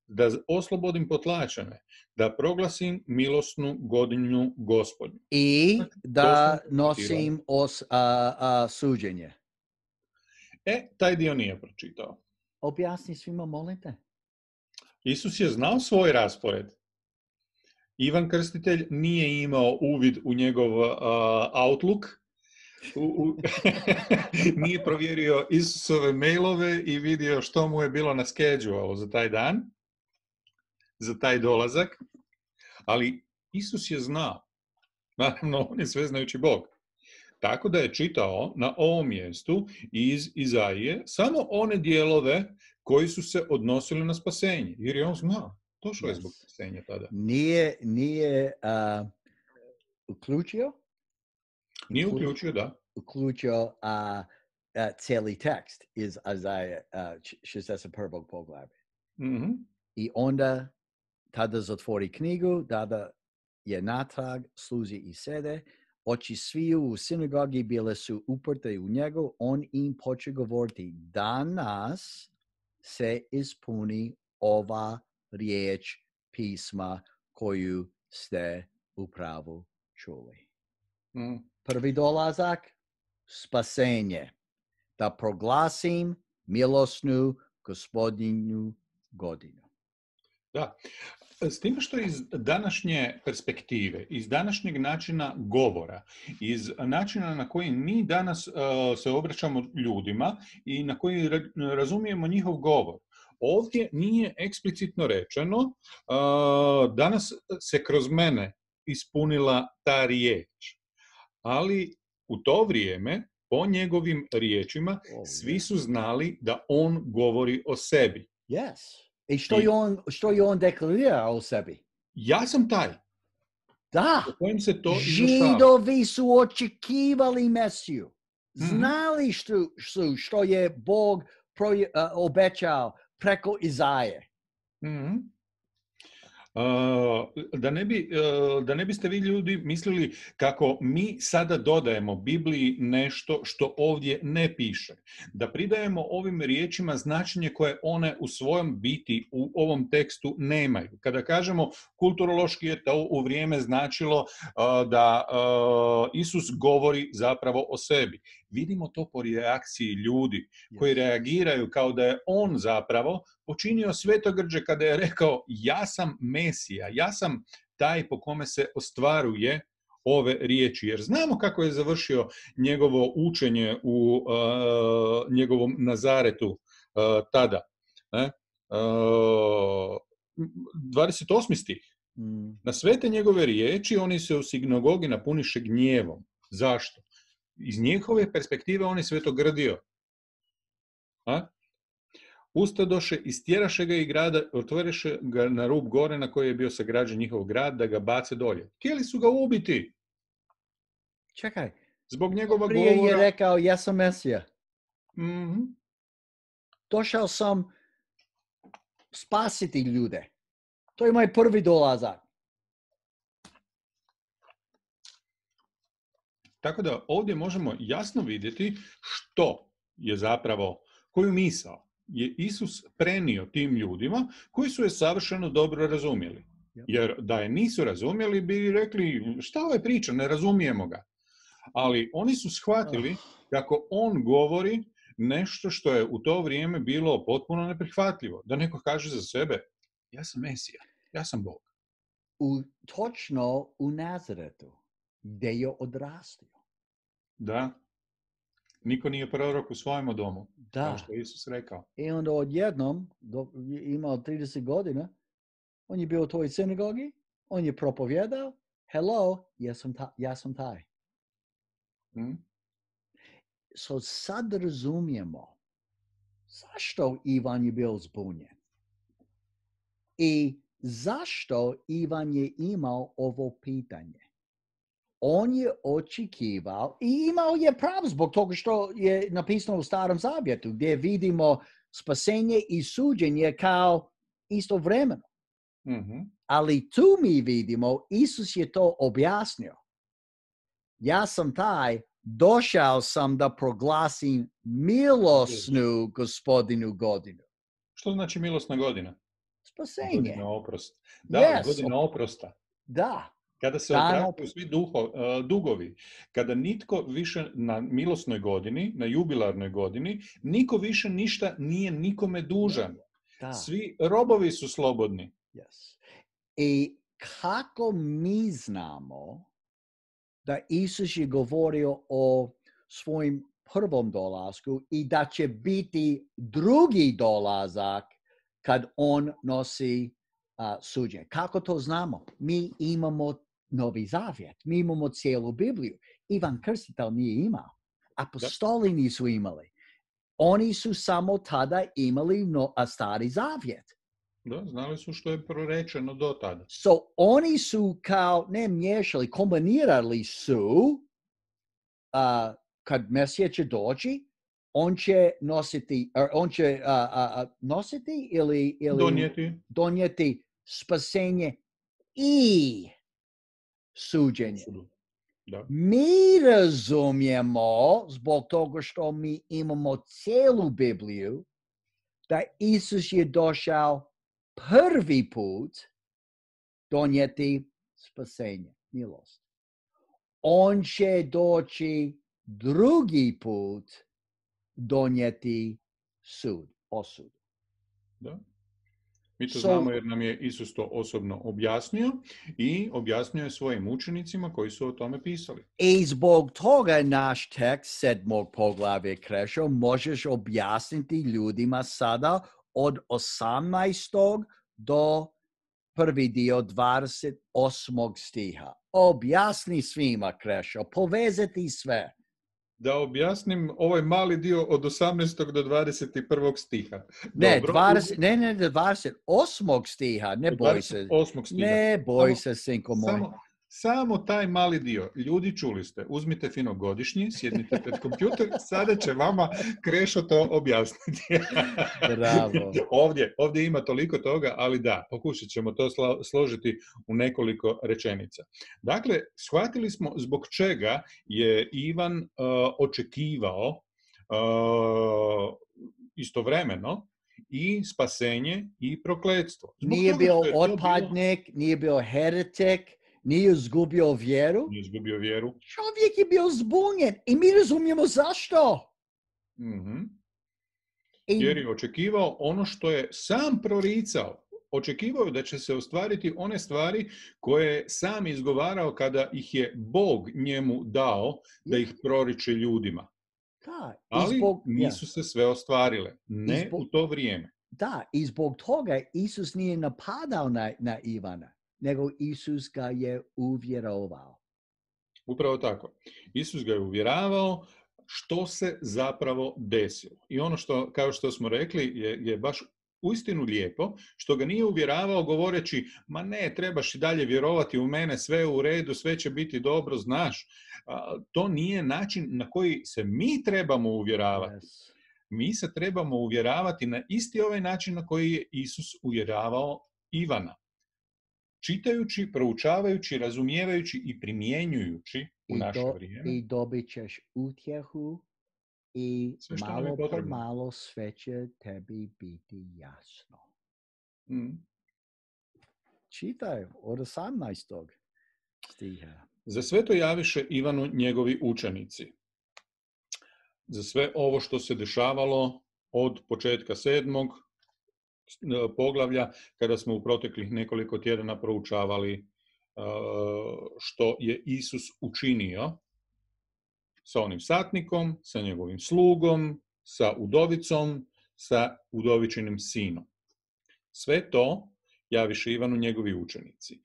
da oslobodim potlačene, da proglasim milosnu godinu Gospodnju. I da nosim suđenje. Taj dio nije pročitao. Objasni svima, molim te. Isus je znao svoj raspored. Ivan Krstitelj nije imao uvid u njegov Outlook, nije provjerio Isusove mailove i vidio što mu je bilo na schedule za taj dan, za taj dolazak, ali Isus je znao. Naravno, on je sveznajući Bog. Tako da je čitao na ovom mjestu iz Izaije samo one dijelove koji su se odnosili na spasenje, jer je on znao. Došao je zbog spasenja tada. Nije uključio? Nije uključio, da. Uključio cijeli tekst iz Izaije 61. poglavlja. I onda tada zatvori knjigu, tada je natrag, služi i sede. Oči sviju u sinagogi bile su uprte u njegu. On im počeo govoriti, danas se ispuni ova riječ pisma koju ste upravo čuli. Prvi dolazak, spasenje. Da proglasim milosnu Gospodnju godinu. Da. S tim što iz današnje perspektive, iz današnjeg načina govora, iz načina na koji mi danas se obraćamo ljudima i na koji razumijemo njihov govor, ovdje nije eksplicitno rečeno danas se kroz mene ispunila ta riječ. Ali u to vrijeme, po njegovim riječima, svi su znali da on govori o sebi. Yes. I što je on deklarirao o sebi? Ja sam taj. Da. O kojem se to izvršava. Židovi su očekivali Mesiju. Znali što je Bog obećao preko Izaije. Da ne biste vi ljudi mislili kako mi sada dodajemo Bibliji nešto što ovdje ne piše. Da pridajemo ovim riječima značenje koje one u svojom biti u ovom tekstu nemaju. Kada kažemo kulturološki je to u vrijeme značilo da Isus govori zapravo o sebi. Vidimo to po reakciji ljudi koji reagiraju kao da je on zapravo počinio svetogrđe kada je rekao ja sam Mesija, ja sam taj po kome se ostvaruje ove riječi. Jer znamo kako je završio njegovo učenje u njegovom Nazaretu tada. 28. stih. Na sve te njegove riječi oni se u sinagogi napuniše gnjevom. Zašto? Iz njihove perspektive on je svetogrdio. Ustadoše, istjeraše ga i grada, otvoriše ga na rub gore na koji je bio sagrađen njihov grad, da ga bace dolje. Htjeli su ga ubiti. Čekaj. Zbog njegova prije govora. Je rekao, ja sam Mesija. Došao sam spasiti ljude. To je moj prvi dolazak. Tako da ovdje možemo jasno vidjeti što je zapravo, koju misao je Isus prenio tim ljudima koji su je savršeno dobro razumjeli. Jer da je nisu razumjeli bi rekli šta ova priča, ne razumijemo ga. Ali oni su shvatili kako on govori nešto što je u to vrijeme bilo potpuno neprihvatljivo. Da neko kaže za sebe, ja sam Mesija, ja sam Bog. Točno u Nazaretu, gdje je odrastio. Da. Niko nije prorok u svojemu domu, Da. kao što je Isus rekao. I onda odjednom, imao 30 godina, on je bio u toj sinagogi, on je propovjedao, hello, ja sam taj. So sad razumijemo zašto Ivan je bio zbunjen i zašto Ivan je imao ovo pitanje. On je očekivao i imao je pravo zbog toga što je napisano u Starom Zavjetu, gdje vidimo spasenje i suđenje kao istovremeno. Ali tu mi vidimo, Isus je to objasnio. Ja sam taj, došao sam da proglasim milosnu Gospodinu godinu. Što znači milosna godina? Spasenje. Godina oprosta. Da, Yes. godina oprosta. Da. Kada se opraštaju svi dugovi, kada nitko više na milosnoj godini, na jubilarnoj godini, niko više ništa nije nikome dužan. Da. Svi robovi su slobodni. Yes. I kako mi znamo da Isus je govorio o svojim prvom dolasku i da će biti drugi dolazak kad on nosi suđenje. Kako to znamo? Mi imamo Novi Zavjet, mi imamo cijelu Bibliju. Ivan Krstitelj nije imao. Apostoli nisu imali. Oni su samo tada imali Stari Zavjet. Da, znali su što je prorečeno do tada. So, oni su kao, ne miješali, kombinirali su, kad Mesija će doći, on će nositi ili donijeti spasenje i suđenje. Da. Mi razumijemo, zbog toga što mi imamo cijelu Bibliju, da Isus je došao prvi put donijeti spasenje, milost. On će doći drugi put donijeti osudu. Da. Mi to znamo jer nam je Isus to osobno objasnio i objasnio je svojim učenicima koji su o tome pisali. I zbog toga naš tekst 7. poglavlja Krešo možeš objasniti ljudima sada od 18. do prvi dio 28. stiha. Objasni svima, Krešo, povezati sve. Da objasnim ovaj mali dio od 18. do 21. stiha. Ne, 28. stiha, ne boj se. 28. stiha. Ne boj se, sinko moj. Samo taj mali dio. Ljudi, čuli ste, uzmite fino godišnji, sjednite pred kompjuter, sada će vama Krešo to objasniti. Bravo. Ovdje ima toliko toga, ali da, pokušat ćemo to složiti u nekoliko rečenica. Dakle, shvatili smo zbog čega je Ivan očekivao istovremeno i spasenje i prokletstvo. Nije bio otpadnik, nije bio heretik, nije izgubio vjeru. Čovjek je bio zbunjen i mi razumijemo zašto. Jer je očekivao ono što je sam proricao. Očekivao da će se ostvariti one stvari koje je sam izgovarao kada ih je Bog njemu dao da ih proriče ljudima. Da, ali nisu se sve ostvarile. Ne u to vrijeme. Da, i zbog toga Isus nije napadao na Ivana, nego Isus ga je uvjerovao. Upravo tako. Isus ga je uvjeravao što se zapravo desilo. I ono što, kao što smo rekli, je baš uistinu lijepo, što ga nije uvjeravao govoreći, ma ne, trebaš i dalje vjerovati u mene, sve je u redu, sve će biti dobro, znaš. To nije način na koji se mi trebamo uvjeravati. Yes. Mi se trebamo uvjeravati na isti ovaj način na koji je Isus uvjeravao Ivana. Čitajući, proučavajući, razumijevajući i primjenjujući u naše vrijeme. I dobit ćeš utjehu i malo po malo sve će tebi biti jasno. Čitaj od 18. stiha. Za sve to javiše Ivanu njegovi učenici. za sve ovo što se dešavalo od početka 7. poglavlja, kada smo u proteklih nekoliko tjedana proučavali što je Isus učinio sa onim satnikom, sa njegovim slugom, sa udovicom, sa udovičinim sinom. Sve to javiše Ivanu njegovi učenici.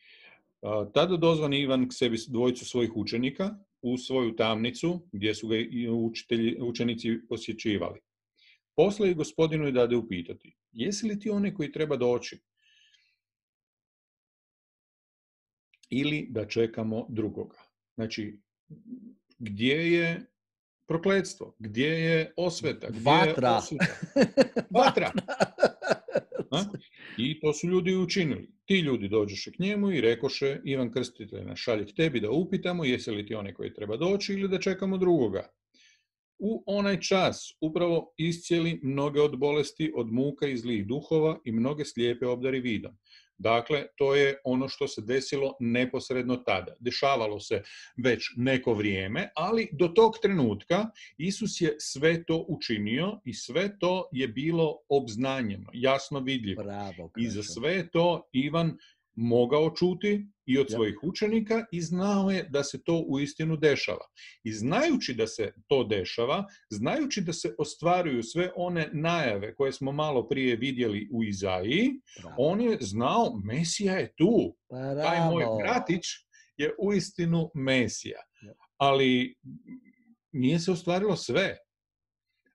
Tada dozvani Ivan k sebi dvojicu svojih učenika u svoju tamnicu, gdje su ga učenici posjećivali. Posle i gospodinu i dade upitati, jesi li ti onaj koji treba doći? Ili da čekamo drugoga? Znači, gdje je prokletstvo? Gdje je osveta? Gdje Vatra. je osuda? Vatra. I to su ljudi učinili. Ti ljudi dođoše k njemu i rekoše, Ivan Krstitelj nas šalje k tebi da upitamo jesi li ti onaj koji treba doći ili da čekamo drugoga. U onaj čas upravo iscijeli mnoge od bolesti, od muka i zlih duhova i mnoge slijepe obdari vidom. Dakle, to je ono što se desilo neposredno tada. Dešavalo se već neko vrijeme, ali do tog trenutka Isus je sve to učinio i sve to je bilo obznanjeno, jasno vidljivo. Bravo, I za sve to Ivan mogao čuti i od svojih učenika i znao je da se to uistinu dešava. I znajući da se to dešava, znajući da se ostvaruju sve one najave koje smo malo prije vidjeli u Izaiji, on je znao Mesija je tu. Taj moj bratić je uistinu Mesija. Ali nije se ostvarilo sve.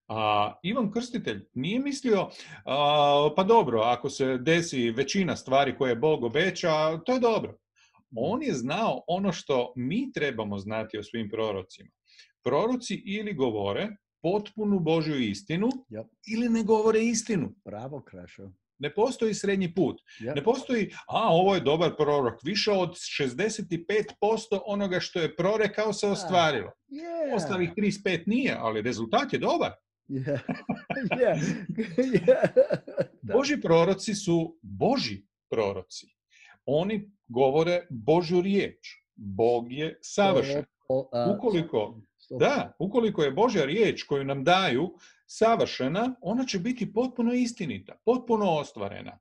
A Ivan Krstitelj nije mislio, pa dobro, ako se desi većina stvari koje Bog obeća, to je dobro. On je znao ono što mi trebamo znati o svim prorocima. Proroci ili govore potpunu Božju istinu, ili ne govore istinu. Bravo, Krešo. Ne postoji srednji put. Ne postoji, ovo je dobar prorok. Više od 65% onoga što je prorekao se ostvarilo. Ostalih 35 nije, ali rezultat je dobar. Božji proroci su Božji proroci. Oni govore Božju riječ. Bog je savršen. Ukoliko je Božja riječ koju nam daju savršena, ona će biti potpuno istinita, potpuno ostvarena.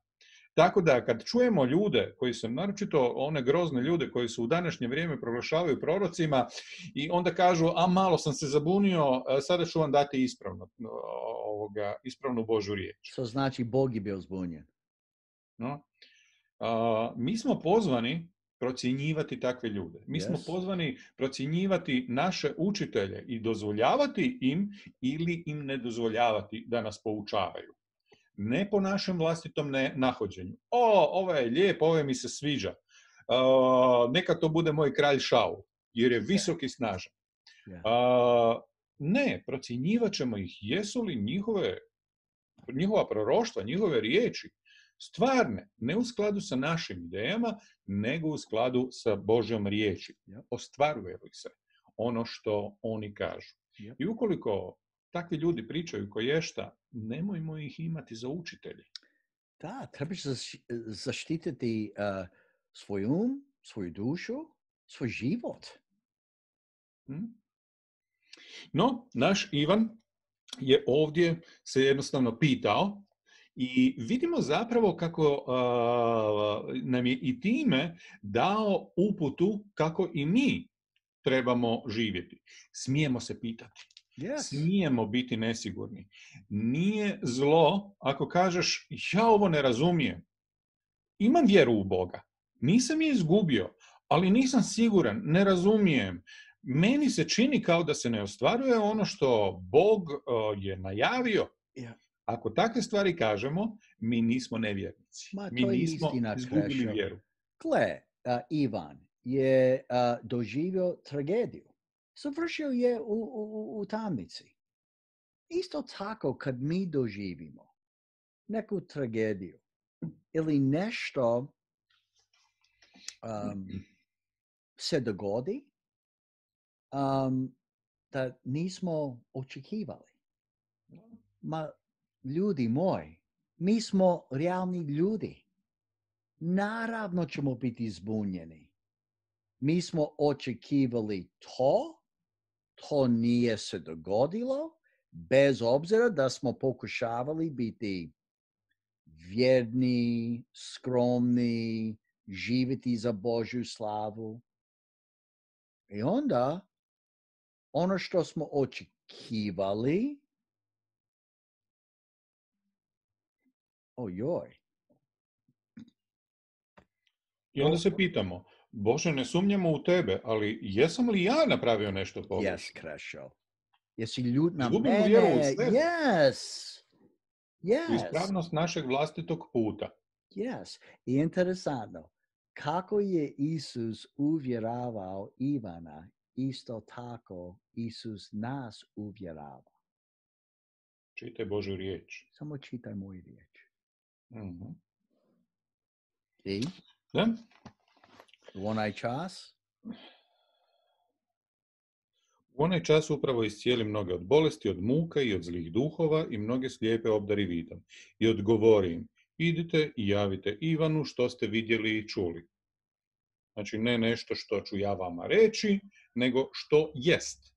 Tako da kad čujemo ljude koji su, naročito one grozne ljude koji su u današnje vrijeme proglašavaju prorocima i onda kažu, malo sam se zabunio, sada ću vam dati ispravnu Božju riječ. Što znači Bog je bio zbunjen? Mi smo pozvani procjenjivati takve ljude. Mi smo pozvani procjenjivati naše učitelje i dozvoljavati im ili im ne dozvoljavati da nas poučavaju. Ne po našem vlastitom nahođenju. Ovo je lijep, ovo mi se sviđa. Neka to bude moj kralj Šaul, jer je visok i snažan. Ne, procjenjivat ćemo ih. Jesu li njihova proroštva, njihove riječi stvarne, ne u skladu sa našim idejama, nego u skladu sa Božjom riječi. Ostvaruje li se ono što oni kažu. I ukoliko takvi ljudi pričaju koješta, nemojmo ih imati za učitelje. Da, trebaš zaštititi svoj svoju dušu, svoj život. No, naš Ivan je ovdje se jednostavno pitao i vidimo zapravo kako nam je i time dao uputu kako i mi trebamo živjeti. Smijemo se pitati. Smijemo biti nesigurni. Nije zlo ako kažeš ja ovo ne razumijem. Imam vjeru u Boga. Nisam je izgubio, ali nisam siguran, ne razumijem. Meni se čini kao da se ne ostvaruje ono što Bog je najavio. Ako takve stvari kažemo, mi nismo nevjernici. Mi nismo izgubili vjeru. Gle, Ivan je doživio tragediju. Završio je u tamnici. Isto tako kad mi doživimo neku tragediju ili nešto se dogodi da nismo očekivali. Ljudi moji, mi smo realni ljudi. Naravno ćemo biti zbunjeni. Mi smo očekivali to nije se dogodilo, bez obzira da smo pokušavali biti vjerni, skromni, živjeti za Božju slavu. I onda, ono što smo očekivali, ojoj. I onda se pitamo, Bože, ne sumnjamo u tebe, ali jesam li ja napravio nešto pogrešno? Yes, Krešo. Jesi ljut na Izgubimo vjeru u mene? sebe. Yes. U Yes. ispravnost našeg vlastitog puta. Yes. I interesantno, kako je Isus uvjeravao Ivana, isto tako Isus nas uvjerava. Čitaj Božju riječ. Samo čitaj moju riječ. Mhm. I Da? u onaj čas, U onaj čas upravo iscijeli mnoge od bolesti, od muka i od zlih duhova i mnoge slijepe obdari vidom. I odgovori im, idite i javite Ivanu što ste vidjeli i čuli. Znači, ne nešto što ću ja vama reći, nego što jest.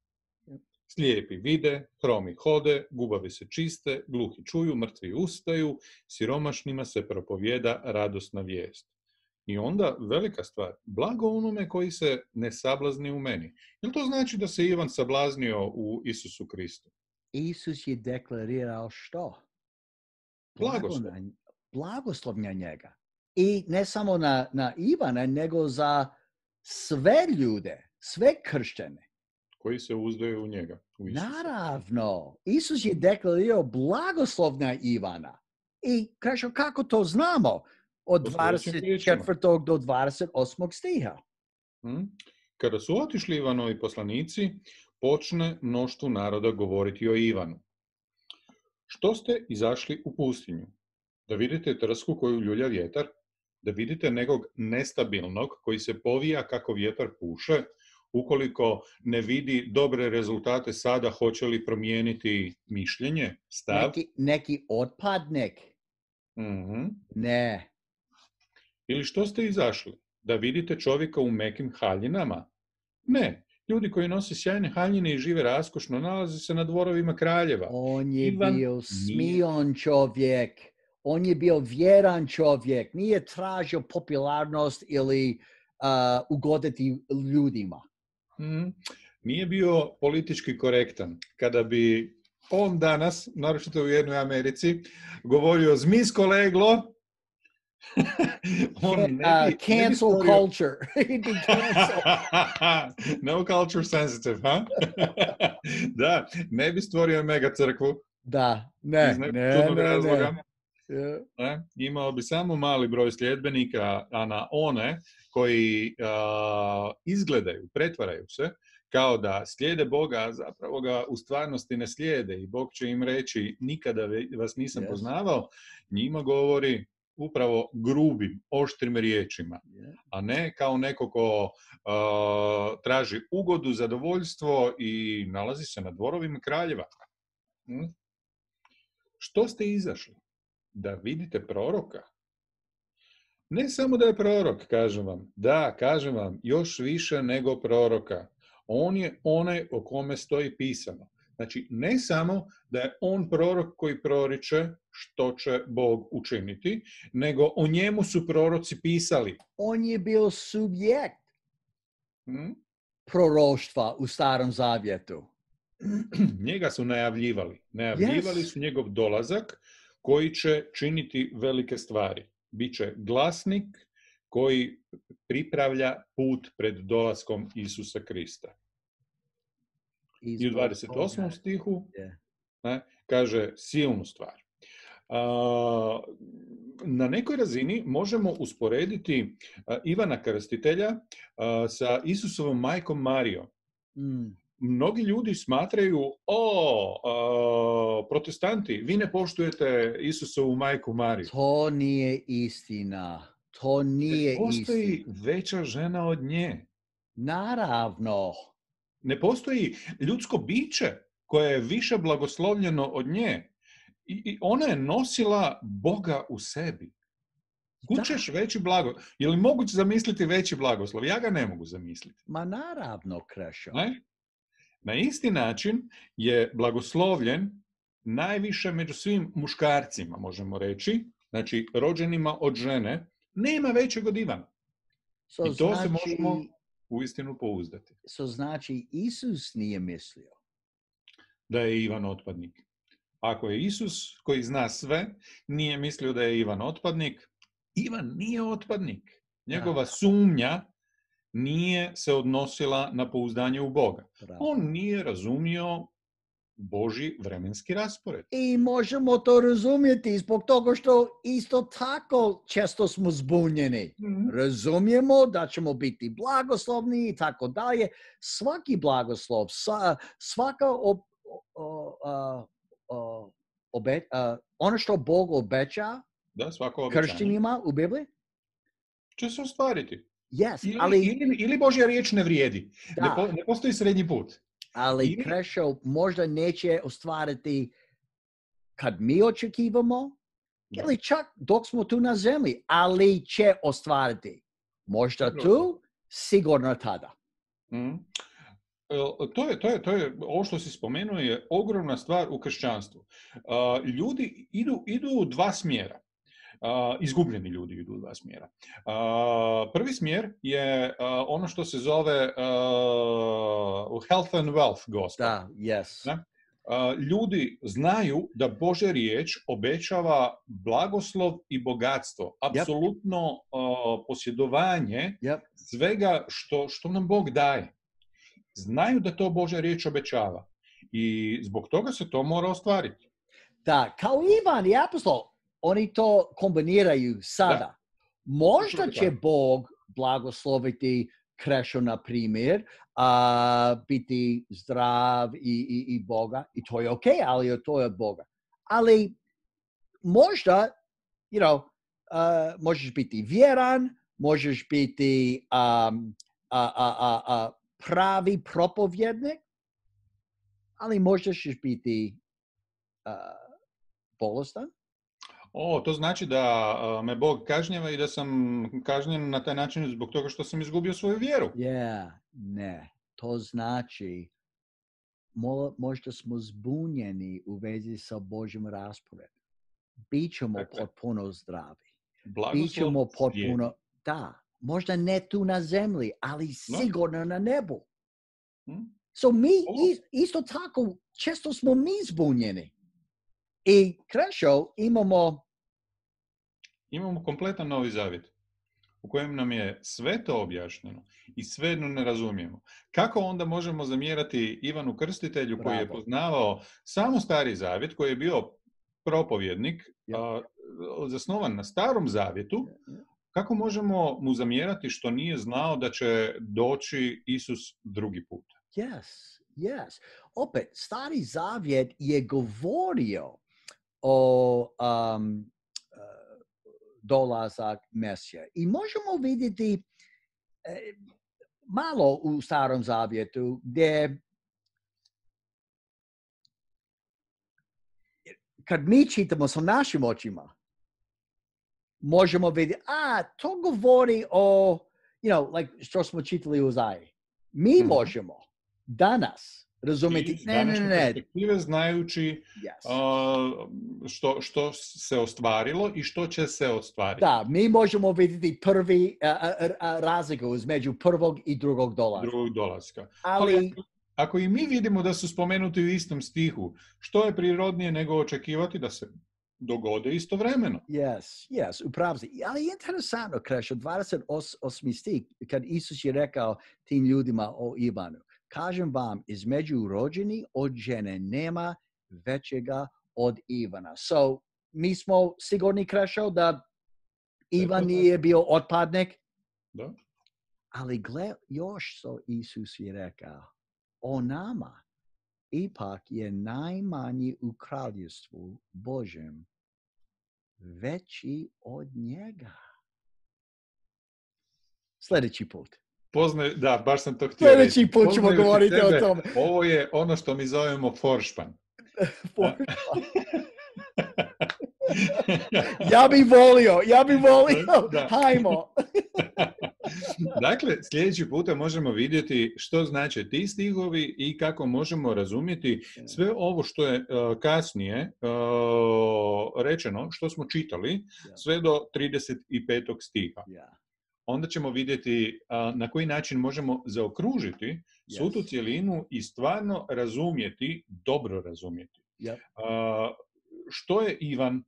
Slijepi vide, hromi hode, gubavi se čiste, gluhi čuju, mrtvi ustaju, siromašnima se propovijeda radosna vijest. I onda, velika stvar, blago onome koji se ne sablazni u meni. Jel to znači da se Ivan sablaznio u Isusu Kristu? Isus je deklarirao što? Blagoslov. Blagoslov na njega. I ne samo na Ivana, nego za sve ljude, sve kršćane. Koji se uzdaju u njega, u Isusa. Naravno, Isus je deklarirao blagoslov na Ivana. I kaže, kako to znamo? Od 24. do 28. stiha. Kada su otišli Ivanovi poslanici, počne mnoštvu naroda govoriti o Ivanu. Što ste izašli u pustinju? Da vidite trsku koju ljulja vjetar? Da vidite nekog nestabilnog koji se povija kako vjetar puše? Ukoliko ne vidi dobre rezultate sada, hoće li promijeniti mišljenje, stav? Neki otpadnik. Ne. Ili što ste izašli? Da vidite čovjeka u mekim haljinama? Ne. Ljudi koji nose sjajne haljine i žive raskošno nalaze se na dvorovima kraljeva. On je bio smion čovjek. On je bio vjeran čovjek. Nije tražio popularnost ili ugoditi ljudima. Nije bio politički korektan. Kada bi on danas, naročito u jednoj Americi, govorio zmijsko leglo, cancel culture. No culture sensitive, huh? Da, ne bi stvorio mega crkvu. Da, ne. Yeah. Imao bi samo mali broj sljedbenika, a na one koji izgledaju, pretvaraju se, kao da slijede Boga, a zapravo ga u stvarnosti ne slijede i Bog će im reći nikada vas nisam poznavao, njima govori upravo grubim, oštrim riječima, a ne kao neko ko traži ugodu, zadovoljstvo i nalazi se na dvorovima kraljeva. Što ste izašli? Da vidite proroka? Ne samo da je prorok, kažem vam. Da, kažem vam, još više nego proroka. On je onaj o kome stoji pisano. Znači, ne samo da je on prorok koji proriče što će Bog učiniti, nego o njemu su proroci pisali. On je bio subjekt proroštva u Starom Zavjetu. Njega su najavljivali. Najavljivali su njegov dolazak koji će činiti velike stvari. Biće glasnik koji pripravlja put pred dolaskom Isusa Krista. I u 28. stihu kaže silnu stvar. Na nekoj razini možemo usporediti Ivana Krstitelja sa Isusovom majkom Marijom. Mnogi ljudi smatraju, protestanti, vi ne poštujete Isusovu majku Mariju. To nije istina. To nije istina. Postoji veća žena od nje. Naravno. Ne postoji ljudsko biće koje je više blagoslovljeno od nje. I ona je nosila Boga u sebi. Kućeš veći blagoslov. Je li moguće zamisliti veći blagoslov? Ja ga ne mogu zamisliti. Ma naravno, Krešo. Ne? Na isti način je blagoslovljen najviše među svim muškarcima, možemo reći, znači rođenima od žene, nema većeg od Ivana. I to se možemo uistinu pouzdati. Znači, Isus nije mislio da je Ivan otpadnik. Ako je Isus, koji zna sve, nije mislio da je Ivan otpadnik, Ivan nije otpadnik. Njegova sumnja nije se odnosila na pouzdanje u Boga. On nije razumio Božji vremenski raspored. I možemo to razumjeti zbog toga što isto tako često smo zbunjeni. Razumijemo da ćemo biti blagoslovni i tako dalje. Svaki blagoslov, svaka ono što Bog obeća kršćanima u Bibliji će se ostvariti. Yes, ili Božja riječ ne vrijedi. Ne postoji srednji put. Ali Krešo možda neće ostvariti kad mi očekivamo, ili čak dok smo tu na zemlji, ali će ostvariti. Možda tu, sigurno tada. To je, ovo što si spomenuo je ogromna stvar u kršćanstvu. Ljudi idu u dva smjera. Izgubljeni ljudi idu u dva smjera. Prvi smjer je ono što se zove health and wealth gospel. Ljudi znaju da Božja riječ obećava blagoslov i bogatstvo, apsolutno posjedovanje svega što nam Bog daje. Znaju da to Božja riječ obećava i zbog toga se to mora ostvariti. Da, kao Ivan i apostol, oni to kombiniraju sada. Možda će Bog blagosloviti Krešo, na primjer, biti zdrav i Boga, i to je okej, ali to je od Boga. Ali možda, možeš biti vjeran, možeš biti pravi propovjednik, ali možda ćeš biti bolestan. To znači da me Bog kažnjava i da sam kažnjen na taj način zbog toga što sam izgubio svoju vjeru. Ne. To znači možda smo zbunjeni u vezi sa Božjim rasporedom. Bićemo potpuno zdravi. Bićemo potpuno, možda ne tu na zemlji, ali sigurno na nebu. So mi isto tako, često smo mi zbunjeni. I Krešo imamo kompletan Novi Zavjet u kojem nam je sve to objašnjeno i svejedno ne razumijemo. Kako onda možemo zamjerati Ivanu Krstitelju koji je poznavao samo Stari Zavjet, koji je bio propovjednik, zasnovan na Starom Zavjetu, kako možemo mu zamjerati što nije znao da će doći Isus drugi put? Yes. Opet, Stari Zavjet je govorio o dolazak Mesija. I možemo vidjeti malo u Starom Zavjetu gdje kad mi čitamo sa našim očima, možemo vidjeti, to govori o, što smo čitali u Izaiji. Mi možemo danas razumjeti, ne. Perspektive znajući što se ostvarilo i što će se ostvariti. Da, mi možemo vidjeti prvi razliku između prvog i drugog dolaska. Ali ako i mi vidimo da su spomenuti u istom stihu, što je prirodnije nego očekivati da se dogode istovremeno? Yes, upravo si. Ali je interesantno, Krešo, 28. stih, kad Isus je rekao tim ljudima o Ivanu, kažem vam, između rođeni od žene nema većega od Ivana. So, mi smo sigurni, Krešo, da Ivan nije bio otpadnik? Da. Ali gle, još što Isus je rekao, o nama ipak je najmanji u kraljevstvu Božjem veći od njega. Sljedeći put. Da, baš sam to htio reći. Sljedeći put ćemo govoriti o tome. Ovo je ono što mi zovemo foršpan. Ja bi volio. Hajmo. Dakle, sljedeći puta možemo vidjeti što znače ti stihovi i kako možemo razumjeti sve ovo što je kasnije rečeno, što smo čitali, sve do 35. stiha. Onda ćemo vidjeti na koji način možemo zaokružiti svu tu cjelinu i stvarno razumjeti, dobro razumjeti. Što je Ivan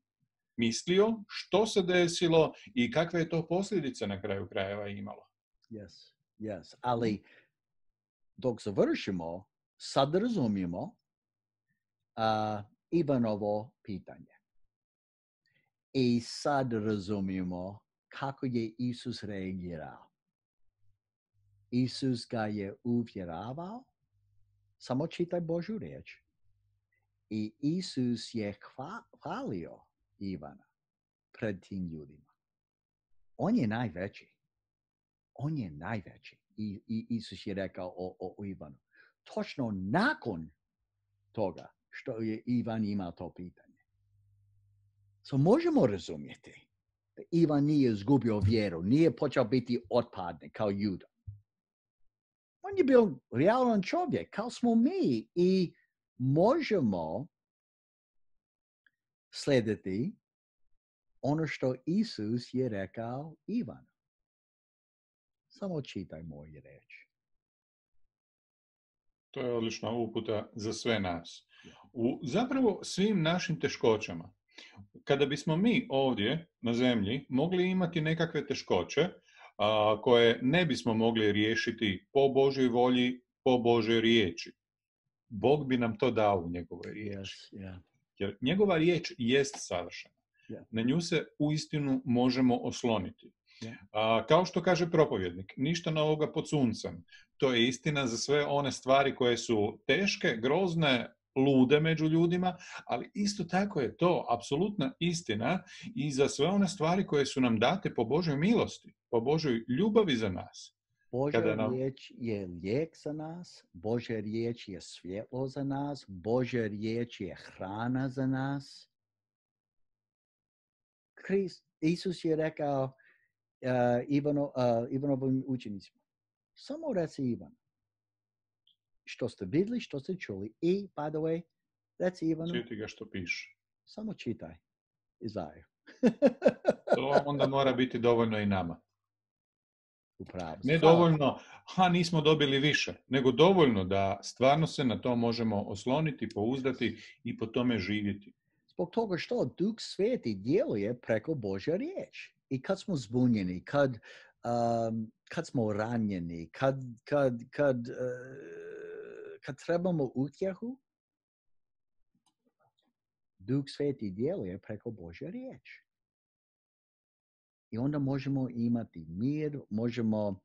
mislio, što se desilo i kakve je to posljedice na kraju krajeva imalo. Yes. Ali dok završimo, sad razumijemo Ivanovo pitanje. I sad razumijemo kako je Isus reagirao. Isus ga je uvjeravao, samo čitaj Božju riječ. I Isus je hvalio Ivana pred tim ljudima. On je najveći. I Isus je rekao o Ivanu. Točno nakon toga što je Ivan imao to pitanje. So možemo razumjeti da Ivan nije izgubio vjeru, nije počeo biti otpadnik kao Juda. On je bio realan čovjek, kao smo mi, i možemo slijediti ono što Isus je rekao Ivanu. Samo čitaj moju riječ. To je odlična uputa za sve nas. U zapravo svim našim teškoćama. Kada bismo mi ovdje na zemlji mogli imati nekakve teškoće koje ne bismo mogli riješiti po Božoj volji, po Božoj riječi, Bog bi nam to dao u njegovoj riječi. Jer njegova riječ jest savršena. Na nju se uistinu možemo osloniti. Kao što kaže propovjednik, ništa novoga pod suncem. To je istina za sve one stvari koje su teške, grozne, lude među ljudima, ali isto tako je to apsolutna istina i za sve one stvari koje su nam date po Božoj milosti, po Božoj ljubavi za nas. Božja riječ je lijek za nas, Božja riječ je svjetlo za nas, Božja riječ je hrana za nas. Isus je rekao Ivanovim učenicima, samo reci Ivanu što ste vidjeli, što ste čuli, i, by the way, reci Ivanu, čiti ga što piše. Samo čitaj Izaju. To onda mora biti dovoljno i nama. Upravo. Ne dovoljno, nismo dobili više, nego dovoljno da stvarno se na to možemo osloniti, pouzdati i po tome živjeti. Zbog toga što Duh Sveti djeluje preko Božja riječ. I kad smo zbunjeni, kad smo ranjeni, kad trebamo utjehu, Duh Sveti djeluje preko Božja riječ. I onda možemo imati mir, možemo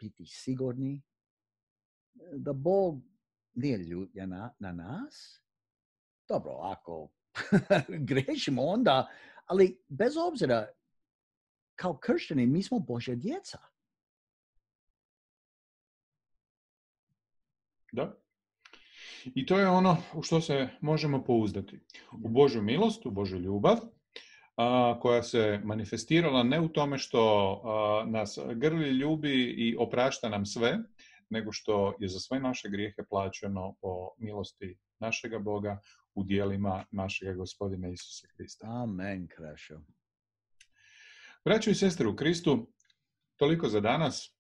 biti sigurni da Bog nije ljutljen na nas. Dobro, ako grešimo onda, ali bez obzira, kao kršćani, mi smo Božja djeca. Da. I to je ono u što se možemo pouzdati. U Božju milost, u Božju ljubav, koja se manifestirala ne u tome što nas grli, ljubi i oprašta nam sve, nego što je za sve naše grijehe plaćeno po milosti našega Boga u djelima našega Gospodina Isusa Krista. Amen, Krešo. Braćo i sestre u Kristu, toliko za danas.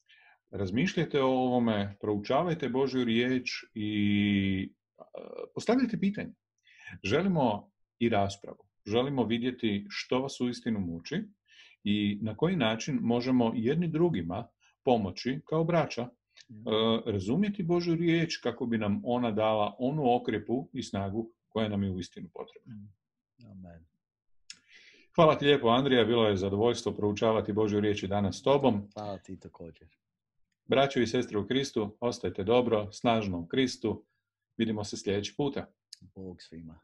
Razmišljajte o ovome, proučavajte Božju riječ i postavljajte pitanje. Želimo i raspravu. Želimo vidjeti što vas uistinu muči i na koji način možemo jedni drugima pomoći kao braća razumjeti Božju riječ kako bi nam ona dala onu okrepu i snagu koja nam je uistinu potrebna. Amen. Hvala ti lijepo, Andrija. Bilo je zadovoljstvo proučavati Božju riječ i danas s tobom. Hvala ti također. Braćo i sestre u Kristu, ostajte dobro, snažno u Kristu. Vidimo se sljedeći puta. Bog svima.